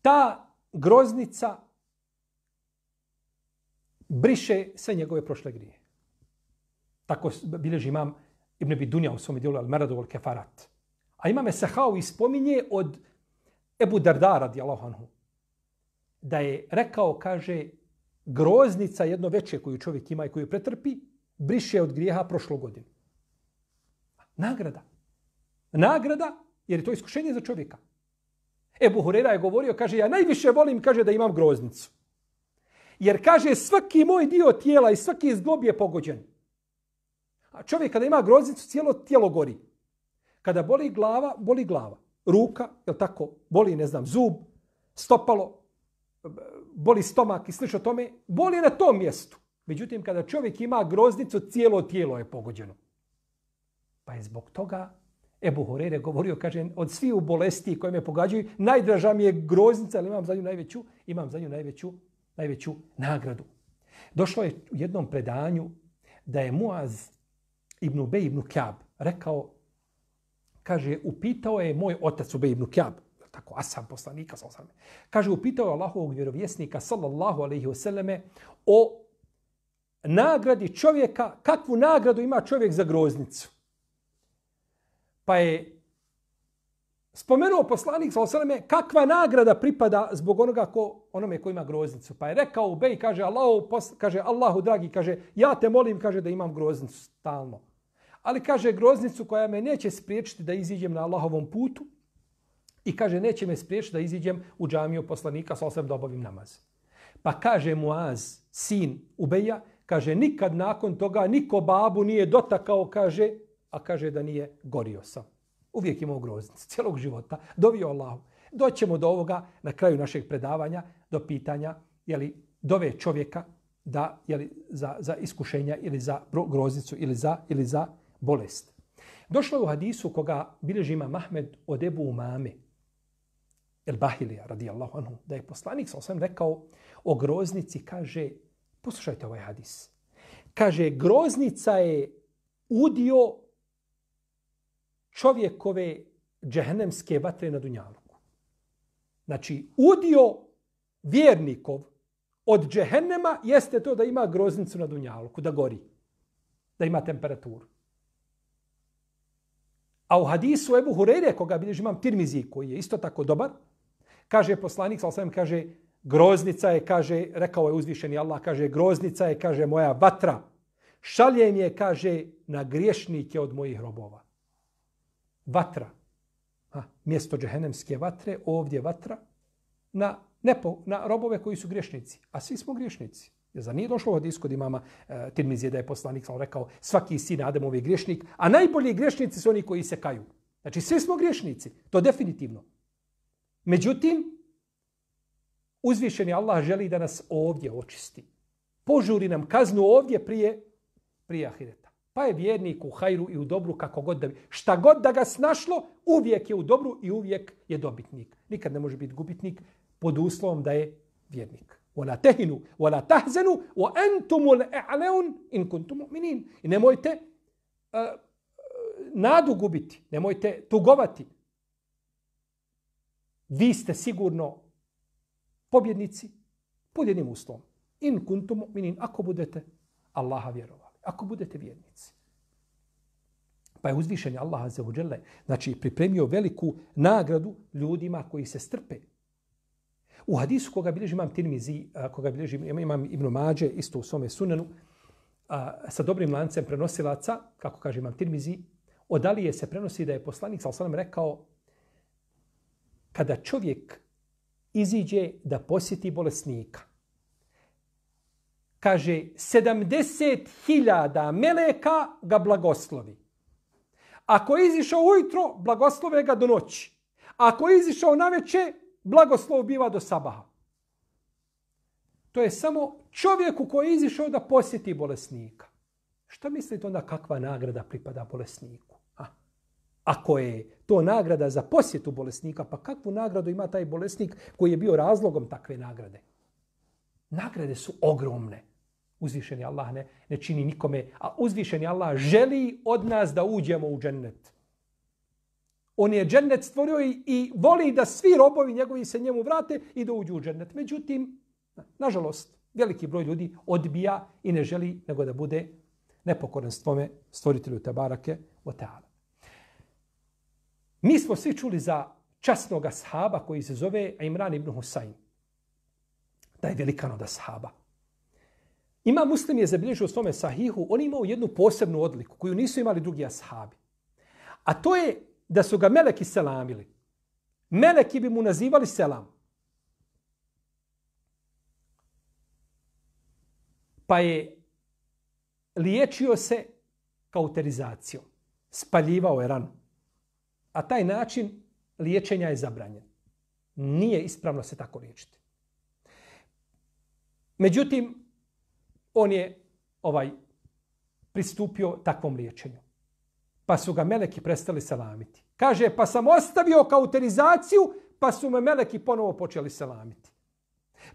ta groznica briše sve njegove prošle grije. Tako bilježi imam Ibn Abi Dunja u svom dijelu Al-Maradu wal-Kefarat. A imam Esahau spominje od Ebu Darda radijallahu anhu da je rekao, kaže, groznica jedno veče koju čovjek ima i koju pretrpi, briše od grijeha prošlu godinu. Nagrada. Nagrada, jer je to iskušenje za čovjeka. Ebu Hurera je govorio, kaže, ja najviše volim, kaže, da imam groznicu. Jer, kaže, svaki moj dio tijela i svaki zglob je pogođen. A čovjek kada ima groznicu, cijelo tijelo gori. Kada boli glava, boli glava. Ruka, je tako, boli, ne znam, zub, stopalo, boli stomak i slično tome, boli na tom mjestu. Međutim, kada čovjek ima groznicu, cijelo tijelo je pogođeno. Pa je zbog toga Ebu Hurere govorio, kaže, od svih bolesti koje me pogađaju, najdraža mi je groznica, ali imam za nju najveću nagradu. Došlo je u jednom predanju da je Muaz ibn Ubej ibn Kjab rekao, kaže, upitao je moj otac Ubej ibn Kjab, tako ashab poslanika, kaže, upitao je Allahovog vjerovjesnika, sallallahu alejhi ve selleme, o nagradi čovjeka, kakvu nagradu ima čovjek za groznicu. Pa je spomenuo poslanik, sallallahu alejhi ve selleme, kakva nagrada pripada zbog onome ko ima groznicu. Pa je rekao Ubej, kaže, Allahu dragi, kaže, ja te molim, kaže, da imam groznicu stalno. Ali, kaže, groznicu koja me neće spriječiti da iziđem na Allahovom putu i, kaže, neće me spriječiti da iziđem u džamiju poslanika, sallallahu alejhi ve sellem, da obavim namaz. Pa kaže Muaz, sin Ubeja, kaže, nikad nakon toga niko babu nije dotakao, kaže, a kaže da nije gorio sam. Uvijek imao groznicu, cijelog života. Dovio Allahu. Doćemo do ovoga na kraju našeg predavanja, do pitanja, dove čovjeka da, za iskušenja ili za groznicu ili za bolest. Došlo je u hadisu koga bilježi imam Ahmed od Ebu Umame, el-Bahilija, radijallahu anhu, da je poslanik sam rekao o groznici, kaže, poslušajte ovaj hadis. Kaže, groznica je udio čovjekove džehennemske vatre na dunjaluku. Znači, udio vjernikov od džehennema jeste to da ima groznicu na dunjaluku, da gori, da ima temperaturu. A u hadisu Ebu Hureyre, koga bilježi imam Tirmizi, koji je isto tako dobar, kaže poslanik, kaže, groznica je, kaže, rekao je uzvišeni Allah, kaže, groznica je, kaže, moja vatra. Šaljem je, kaže, na griješnike od mojih robova. Vatra. Mjesto džehennemske vatre, ovdje vatra, na robove koji su griješnici. A svi smo griješnici. Zar nije došlo u hadisu kod imama Tirmizije da je poslanik rekao svaki sin Ademov je griješnik, a najbolji griješnici su oni koji se kaju. Znači, svi smo griješnici. To definitivno. Međutim, uzvišeni Allah želi da nas ovdje očisti. Požuri nam kaznu ovdje prije ahireta. Pa je vjernik u hajru i u dobru kako god šta god da ga snašlo, uvijek je u dobru i uvijek je dobitnik. Nikad ne može biti gubitnik pod uslovom da je vjernik. وَلَا تَهِنُوا وَلَا تَحْزَنُوا وَأَنْتُمُ الْأَعْلَوْنَ إِنْ كُنْتُمْ مُؤْمِنِينَ. I nemojte nadu gubiti, nemojte tugovati. Vi ste sigurno pobjednici pod jednim uslovom. In kuntum mu'minin, ako budete Allaha vjerovali, ako budete vjernici. Pa je uzvišen Allah azza wa dželle, znači pripremio veliku nagradu ljudima koji se strpe. U hadisu koga bilježi imam Tirmizi, koga bilježi imam Ibn Mađe, isto u svome sunenu, sa dobrim lancem prenosilaca, kako kaže imam Tirmizi, od Alije se prenosi da je poslanik sallallahu alejhi ve sellem rekao kada čovjek iziđe da posjeti bolesnika, kaže 70.000 meleka ga blagoslovi. Ako je izišao ujutro, blagoslove ga do noći. Ako je izišao naveče, blagoslov biva do sabaha. To je samo čovjeku koji je izišao da posjeti bolesnika. Šta mislite onda kakva nagrada pripada bolesniku? Ako je to nagrada za posjetu bolesnika, pa kakvu nagradu ima taj bolesnik koji je bio razlogom takve nagrade? Nagrade su ogromne. Uzvišeni Allah ne čini nikome, a uzvišeni Allah želi od nas da uđemo u džennet. On je džennet stvorio i voli da svi robovi njegovi se njemu vrate i da uđu u džennet. Međutim, nažalost, veliki broj ljudi odbija i ne želi nego da bude nepokoran svome stvoritelju Tebarake o Teala. Mi smo svi čuli za časnog ashaba koji se zove Imran ibn Husayn. Taj velikan od ashaba. Imam Muslim je zabilježio u svome sahihu, on je imao jednu posebnu odliku koju nisu imali drugi ashabi. A to je da su ga meleki selamili. Meleki bi mu nazivali selam. Pa je liječio se kauterizacijom. Spaljivao je ranu. A taj način liječenja je zabranjen. Nije ispravno se tako liječiti. Međutim, on je pristupio takvom liječenju. Pa su ga meleki prestali selamiti. Kaže, pa sam ostavio kauterizaciju, pa su me meleki ponovo počeli selamiti.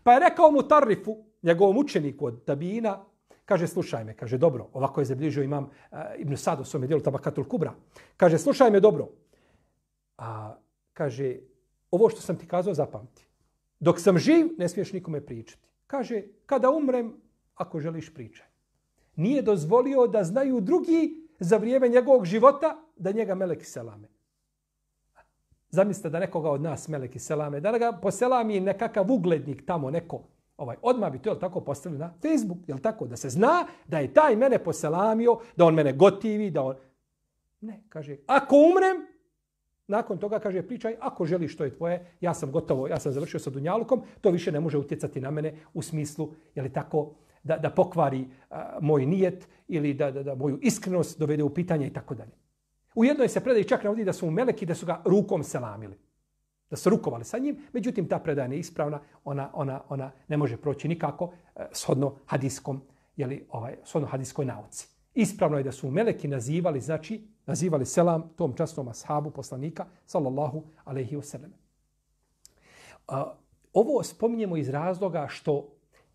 Pa je rekao mu Tarifu, njegovom učeniku od Tabina, kaže, slušaj me, kaže, dobro, ovako je zabilježio imam Ibn Sad u svome dijelu Tabakatul Kubra. Kaže, slušaj me dobro. Kaže, ovo što sam ti kazao zapamti. Dok sam živ, ne smiješ nikome pričati. Kaže, kada umrem, ako želiš pričaj. Nije dozvolio da znaju drugi za vrijeme njegovog života da njega meleki selame. Zamislite da nekoga od nas meleki selame, da ga poselami nekakav uglednik tamo neko. Odmah bi to tako postavili na Facebook, jel tako? Da se zna da je taj mene poselamio, da on mene gotivi, da on... Ne, kaže, ako umrem, nakon toga kaže, pričaj, ako želiš što je tvoje, ja sam gotovo, ja sam završio sa dunjalukom, to više ne može utjecati na mene u smislu, je li tako, da pokvari moj nijet ili da moju iskrenost dovede u pitanje i tako dalje. U jednoj se predaji čak navodi da su mu meleki, da su ga rukom selamili. Da su rukovali sa njim, međutim ta predaja je ispravna, ona ne može proći nikako shodno hadiskom, shodno hadijskoj nauci. Ispravno je da su meleki nazivali selam tom časnom ashabu poslanika sallallahu alejhi ve sellem. Ovo spominjemo iz razloga što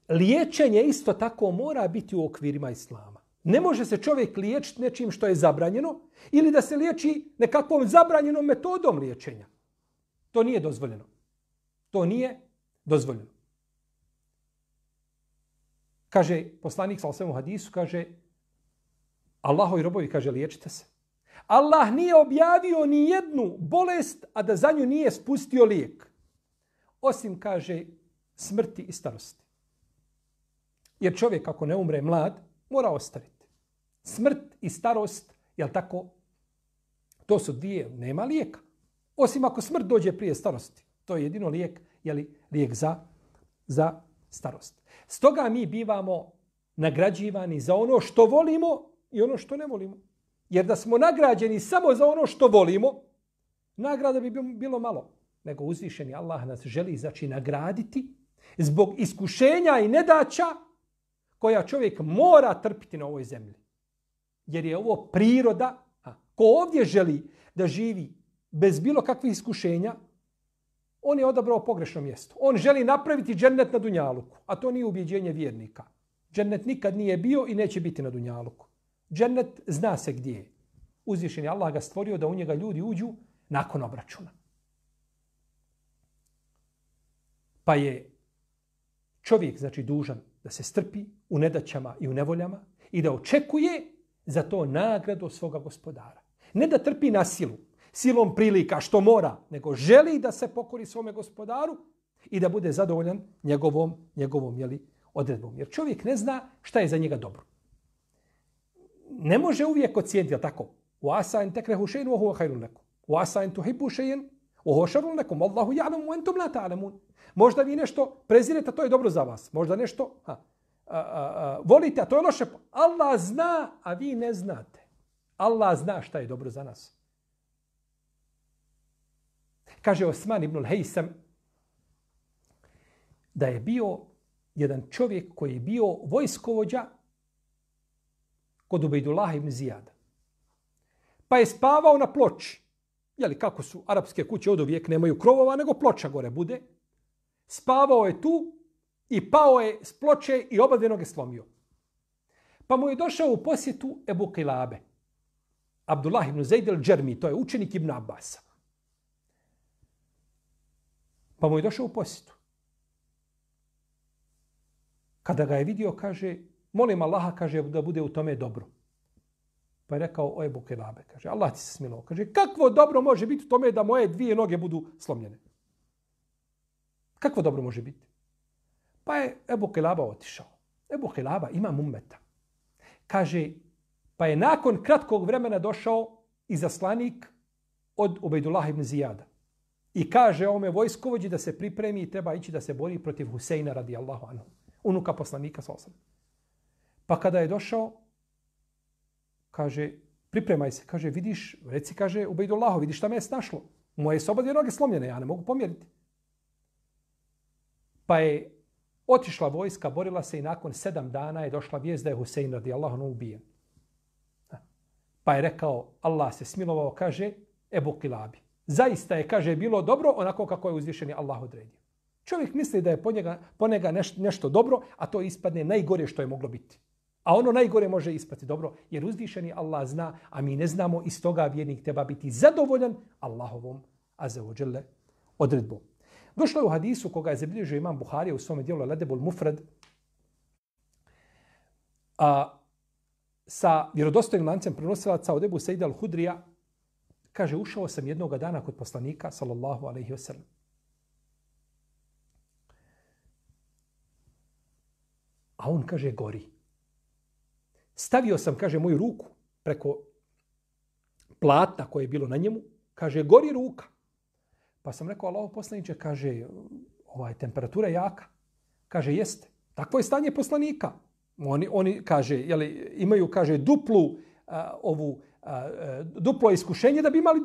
liječenje isto tako mora biti u okvirima islama. Ne može se čovjek liječiti nečim što je zabranjeno ili da se liječi nekakvom zabranjenom metodom liječenja. To nije dozvoljeno. To nije dozvoljeno. Kaže poslanik sallallahu alejhi ve sellem u hadisu, kaže Allahovi robovi, kaže, liječite se. Allah nije objavio ni jednu bolest, a da za nju nije spustio lijek. Osim, kaže, smrti i starosti. Jer čovjek ako ne umre mlad, mora ostaviti. Smrt i starost, jel tako, to su dvije, nema lijeka. Osim ako smrt dođe prije starosti. To je jedino lijek, lijek za starost. Stoga mi bivamo nagrađivani za ono što volimo i ono što ne volimo. Jer da smo nagrađeni samo za ono što volimo, nagrada bi bilo malo. Nego uzvišeni Allah nas želi nagraditi zbog iskušenja i nedaća koja čovjek mora trpiti na ovoj zemlji. Jer je ovo priroda. Ko ovdje želi da živi bez bilo kakvih iskušenja, on je odabrao pogrešno mjesto. On želi napraviti džennet na dunjaluku, a to nije ubjeđenje vjernika. Džennet nikad nije bio i neće biti na dunjaluku. Džennet zna se gdje je. Uzvišen je Allah ga stvorio da u njega ljudi uđu nakon obračuna. Pa je čovjek, dužan da se strpi u nedaćama i u nevoljama i da očekuje za to nagradu od svoga gospodara. Ne da trpi na silu, silom prilika što mora, nego želi da se pokori svome gospodaru i da bude zadovoljan njegovom odredbom. Jer čovjek ne zna šta je za njega dobro. Ne može uvijek ocijeniti, jel tako? Uasa en tekrehu še'in wa huwa khairun lakum. Uasa en tuhibbu še'in wa huwa sharrun lakum. Allahu ja'lamu wa antum la ta'lamun. Možda vi nešto prezirete, a to je dobro za vas. Možda nešto volite, a to je loše. Allah zna, a vi ne znate. Allah zna šta je dobro za nas. Kaže Osman ibn al-Hejsam da je bio jedan čovjek koji je bio vojskovođa kod Ubejdullaha ibn Zijada. Pa je spavao na ploči. Jeli, kako su arapske kuće od uvijek nemaju krovova, nego ploča gore bude. Spavao je tu i pao je s ploče i oba dvije noge slomio. Pa mu je došao u posjetu Ebu Kilabe. Abdullah ibn Zaid al-Džermi, to je učenik Ibn Abbasa. Pa mu je došao u posjetu. Kada ga je vidio, kaže, molim Allaha, kaže, da bude u tome dobro. Pa je rekao, o Ebu Kilabe, kaže, Allah ti se smilovao. Kaže, kakvo dobro može biti u tome da moje dvije noge budu slomljene? Kakvo dobro može biti? Pa je Ebu Kilaba otišao. Ebu Kilaba ima ummeta. Kaže, pa je nakon kratkog vremena došao izaslanik od Ubejdullaha ibn Zijada. I kaže ovome vojskovođi da se pripremi i treba ići da se bori protiv Huseina radijallahu anhu, unuka poslanika sallallahu alejhi ve sellem. Pa kada je došao, kaže, pripremaj se, kaže, vidiš, reci, kaže, Ubejdullahu, vidiš šta me je snašlo. Moje su oba dvije noge slomljene, ja ne mogu pomjeriti. Pa je otišla vojska, borila se i nakon 7 dana je došla vijest da je Husein radijallahu anhu ubijen. Pa je rekao, Allah se smilovao, kaže, Ebu Kilabi. Zaista je, kaže, bilo dobro onako kako je uzvišeni Allah odredio. Čovjek misli da je po njega nešto dobro, a to ispadne najgore što je moglo biti. A ono najgore može ispati dobro, jer uzvišeni Allah zna, a mi ne znamo, iz toga vjernik treba biti zadovoljan Allahovom azza wa dželle odredbom. Došlo je u hadisu koga je zabilježio imam Buharija u svome dijelu Ladebul Mufrad, sa vjerodostojnim lancem prenosilaca od Ebu Sejda al-Hudrija, kaže, ušao sam jednoga dana kod poslanika, sallallahu alejhi ve sellem. A on, kaže, gori. Stavio sam, kaže, moju ruku preko platna koje je bilo na njemu. Kaže, gori ruka. Pa sam rekao, Allahov poslaniče, kaže, temperatura je jaka. Kaže, jeste. Takvo je stanje poslanika. Oni kaže, jeli, imaju, kaže, duplo iskušenje da bi imali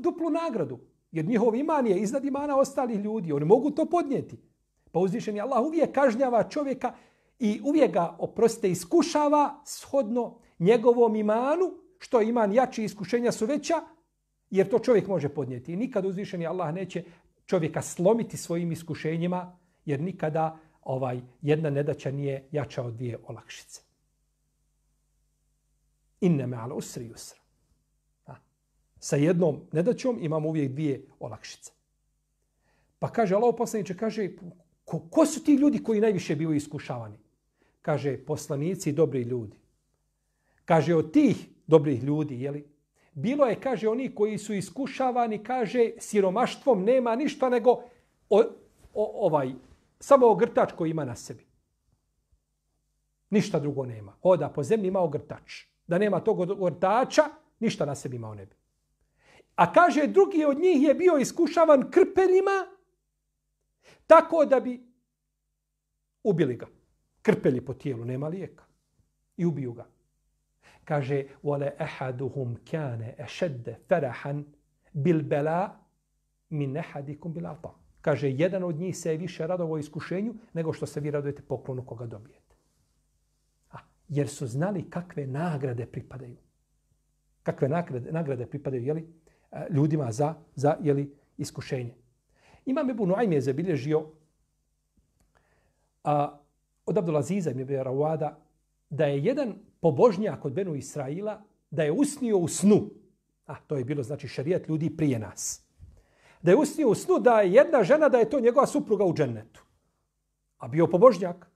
duplu nagradu. Jer njihov iman je iznad imana ostalih ljudi. Oni mogu to podnijeti. Pa uzvišeni Allah uvijek kažnjava čovjeka i uvijek ga, oprostite, iskušava shodno njegovom imanu, što iman jači, iskušenja su veća, jer to čovjek može podnijeti. I nikad uzvišeni Allah neće čovjeka slomiti svojim iskušenjima, jer nikada jedna nedaća nije jača od dvije olakšice. Inne me'al usri yusra. Sa jednom nedaćom imamo uvijek dvije olakšice. Pa kaže, Allahov poslaniče, kaže, ko su ti ljudi koji najviše bili iskušavani? Kaže, poslanici i dobri ljudi. Kaže, od tih dobrih ljudi, jeli, bilo je, kaže, oni koji su iskušavani, kaže, siromaštvom nema ništa nego samo ogrtač koji ima na sebi. Ništa drugo nema. Hoda po zemlji, ima ogrtač. Da nema tog ogrtača, ništa na sebi imao ne bi. A kaže, drugi od njih je bio iskušavan krpeljima, tako da bi ubili ga. Krpelji po tijelu, nema lijeka. I ubiju ga. Kaže, وَلَا أَحَدُهُمْ كَانَ أَشَدَّ فَرَحًا بِالْبَلَا مِنْ أَحَدِكُمْ بِالْعَطَى. Kaže, jedan od njih se je više radovao iskušenju nego što se vi radujete poklonu koga dobijete. Jer su znali kakve nagrade pripadaju. Kakve nagrade pripadaju, jeli, ljudima za jeli, iskušenje. Imam Ebu Nuaym je zabilježio od Abdulaziza ibn Rawada da je jedan pobožnjak od Benu Israila da je usnio u snu. To je bilo, znači, šerijat ljudi prije nas. Da je usnio u snu da je jedna žena, da je to njegova supruga u džennetu. A bio pobožnjak.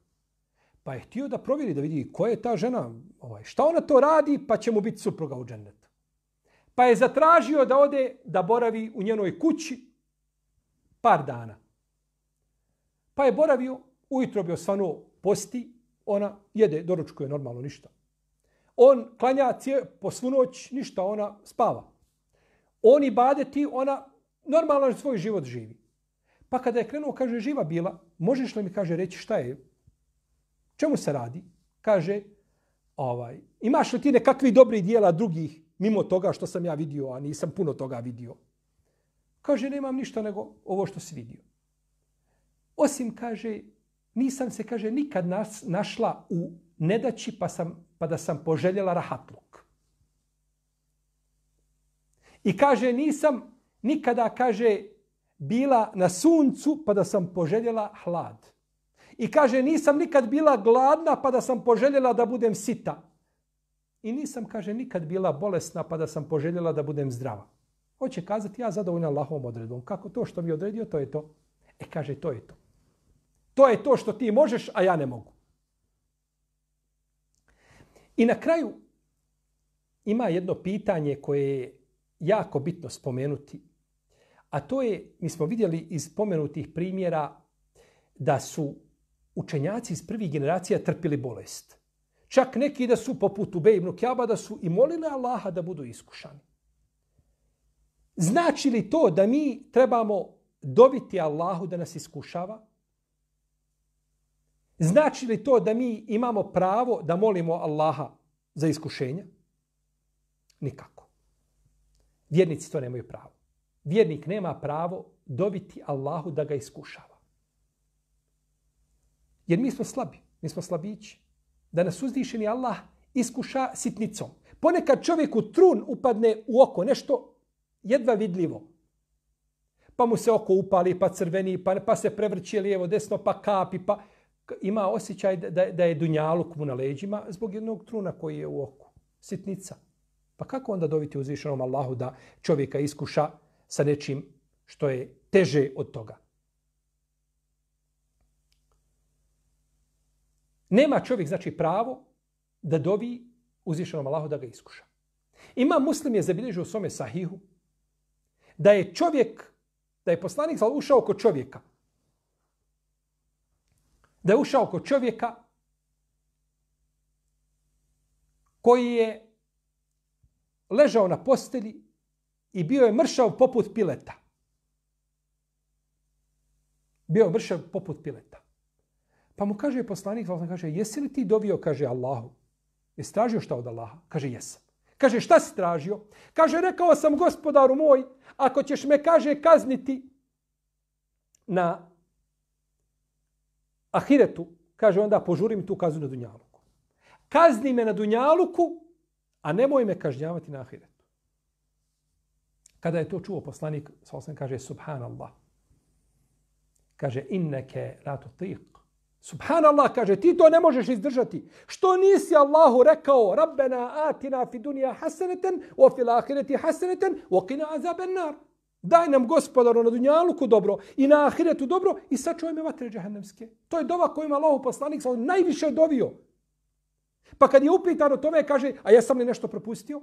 Pa je htio da provjeri, da vidi ko je ta žena, šta ona to radi, pa će mu biti supruga u džennetu. Pa je zatražio da ode da boravi u njenoj kući par dana. Pa je boravio, ujutro bi osvanuo, posti, ona jede, doručkuje normalno, ništa. On klanja po svu noć, ništa, ona spava. On ibadeti, ona normalno svoj život živi. Pa kada je krenuo, kaže, živa bila, možeš li mi, kaže, reći šta je? Čemu se radi? Kaže, imaš li ti nekakvi dobri dijela drugih mimo toga što sam ja vidio, a nisam puno toga vidio? Kaže, nemam ništa nego ovo što si vidio. Osim, kaže, nisam se, kaže, nikad našla u nedaći pa da sam poželjela rahatluk. I kaže, nisam nikada, kaže, bila na suncu pa da sam poželjela hlad. I kaže, nisam nikad bila gladna pa da sam poželjela da budem sita. I nisam, kaže, nikad bila bolesna pa da sam poželjela da budem zdrava. Hoće kazati, ja zadovoljna Allahovom odredbom. Kako to što mi odredio, to je to. Kaže, to je to. To je to što ti možeš, a ja ne mogu. I na kraju ima jedno pitanje koje je jako bitno spomenuti. A to je, mi smo vidjeli iz spomenutih primjera da su učenjaci iz prvih generacija trpili bolest. Čak neki da su poput Ubej ibn Kjaba da su i molili Allaha da budu iskušani. Znači li to da mi trebamo dobiti Allahu da nas iskušava? Znači li to da mi imamo pravo da molimo Allaha za iskušenja? Nikako. Vjernici to nemaju pravo. Vjernik nema pravo dobiti Allahu da ga iskušava. Jer mi smo slabi, mi smo slabići. Da nas uzvišeni Allah iskuša sitnicom. Ponekad čovjeku trun upadne u oko, nešto jedva vidljivo. Pa mu se oko upali, pa crveni, pa se prevrće lijevo, desno, pa kapi, pa ima osjećaj da je dunjaluk mu na leđima zbog jednog truna koji je u oku. Sitnica. Pa kako onda dobiti uzvišenom Allahu da čovjeka iskuša sa nečim što je teže od toga? Nema čovjek, znači, pravo da dovi uzvišenom Allahu da ga iskuša. Imam Muslim je zabilježio u svome sahihu da je poslanik ušao kod čovjeka. Da je ušao kod čovjeka koji je ležao na postelji i bio je mršav poput pileta. Bio je mršav poput pileta. Pa mu kaže poslanik, kaže, jesi li ti dovio, kaže, Allahu? Jesi tražio šta od Allaha? Kaže, jesam. Kaže, šta si tražio? Kaže, rekao sam, gospodaru moj, ako ćeš me, kaže, kazniti na ahiretu, kaže, onda požuri mi tu kaznu na dunjaluku. Kazni me na dunjaluku, a nemoj me kažnjavati na ahiretu. Kada je to čuo poslanik, kaže, subhanallah. Kaže, inneke la tutiq. Subhanallah, kaže, ti to ne možeš izdržati. Što nisi Allahu rekao, Rabbena atina fi dunja hasaneten, o fil ahireti hasaneten, o qina azaben nar. Daj nam, gospodaru, na dunjaluku dobro i na ahiretu dobro i sačuvaj me vatre džehennemske. To je dova kojima Allahu poslanik najviše dovio. Pa kad je upitan o tome, kaže, a ja sam li nešto propustio?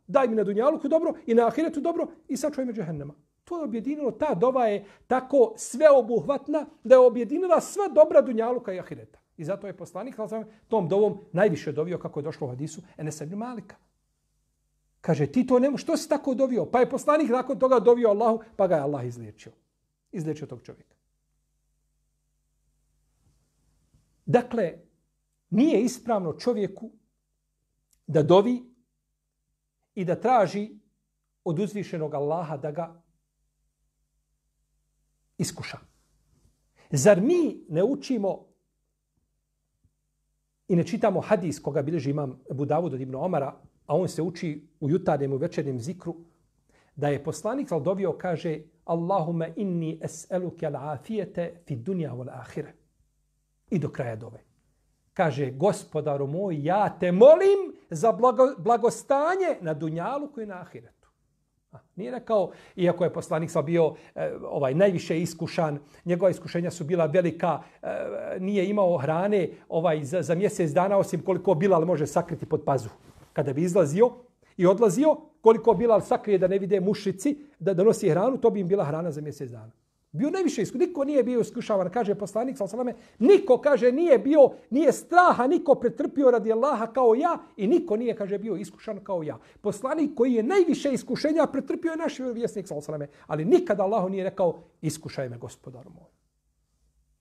Daj mi na dunjaluku dobro i na ahiretu dobro i sačuvaj me džehennema. To je objedinilo, ta dova je tako sveobuhvatna da je objedinila sva dobra dunjaluka i ahireta. I zato je poslanik tom dovom najviše dovio, kako je došlo u hadisu, Enes ibn Malika. Kaže, ti to nemo, što si tako dovio? Pa je poslanik nakon toga dovio Allahu, pa ga je Allah izliječio. Izliječio tog čovjeka. Dakle, nije ispravno čovjeku da dovi i da traži od uzvišenog Allaha da ga iskuša. Zar mi ne učimo i ne čitamo hadis koga bilježi imam Ebu Davud od Ibn Omara, a on se uči u jutarnjem i večernjem zikru, da je poslanik dovio, kaže, Allahume inni es'eluke al-afijete fi dunja wal ahire. I do kraja dove. Kaže, gospodaru moj, ja te molim za blagostanje na dunjaluku i na ahiretu. Nije rekao, iako je poslanik bio najviše iskušan, njegova iskušenja su bila velika, nije imao hrane za mjesec dana, osim koliko Bilal može sakriti pod pazuhu. Kada bi izlazio i odlazio, koliko Bilal sakrije da ne vide mušici, da nosi hranu, to bi im bila hrana za mjesec dana. Bio najviše iskušavan. Niko nije bio iskušavan, kaže poslanik sallallahu alejhi ve selleme, niko kaže nije straha niko pretrpio radi Allaha kao ja i niko nije kaže bio iskušan kao ja. Poslanik koji je najviše iskušenja pretrpio je naš vjerovjesnik sallallahu alejhi ve selleme, ali nikada Allahu nije rekao iskušaj me gospodaru moj.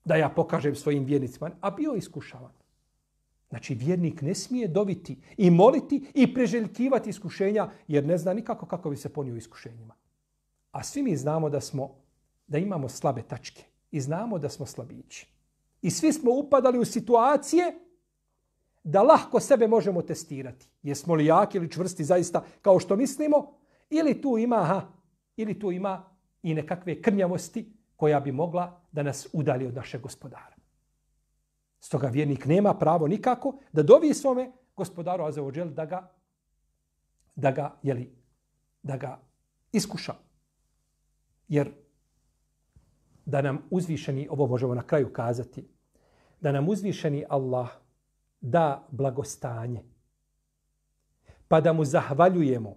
Da ja pokažem svojim vjernicima, a bio iskušavan. Znači vjernik ne smije doviti i moliti i preželjkivati iskušenja jer ne zna nikako kako bi se ponio iskušenjima. A svi mi znamo da imamo slabe tačke i znamo da smo slabići. I svi smo upadali u situacije da lahko sebe možemo testirati. Jesmo li jaki ili čvrsti zaista kao što mislimo ili tu ima i nekakve krnjavosti koja bi mogla da nas udalji od našeg gospodara. Stoga vjernik nema pravo nikako da dovi svome gospodaru azza wa džel da ga iskuša. Jer da nam uzvišeni, ovo možemo na kraju kazati, da nam uzvišeni Allah da blagostanje, pa da mu zahvaljujemo.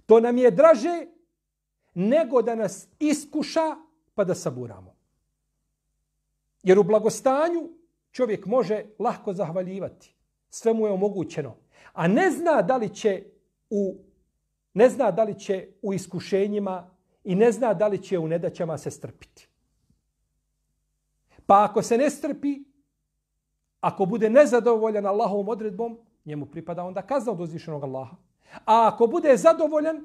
To nam je draže nego da nas iskuša pa da saburamo. Jer u blagostanju čovjek može lahko zahvaljivati. Sve mu je omogućeno. A ne zna da li će u iskušenjima i ne zna da li će u nedaćama se strpiti. Pa ako se ne strpi, ako bude nezadovoljan Allahovom odredbom, njemu pripada onda kazna od uzvišenog Allaha. A ako bude zadovoljan,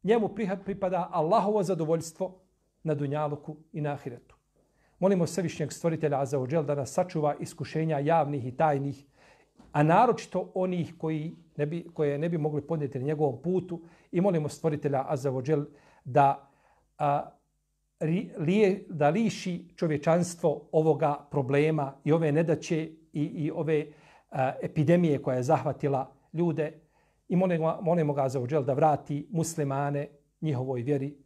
njemu pripada Allahovo zadovoljstvo na dunjaluku i na ahiretu. Molimo Svevišnjeg Stvoritelja azza wa džel da nas sačuva iskušenja javnih i tajnih, a naročito onih koje ne bi mogli podnijeti na njegovom putu i molimo Stvoritelja azza wa džel da liši čovječanstvo ovoga problema i ove nedaće i ove epidemije koja je zahvatila ljude i molimo ga azza wa džel da vrati muslimane njihovoj vjeri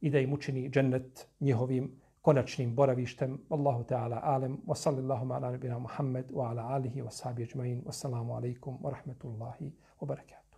i da im učini džennet njihovim konačnim boravištem. Allahu ta'ala alem wa sallallahu ala nabina Muhammed wa ala alihi wa sahbihi ajma'in. Wassalamu alaikum wa rahmatullahi wa barakatuh.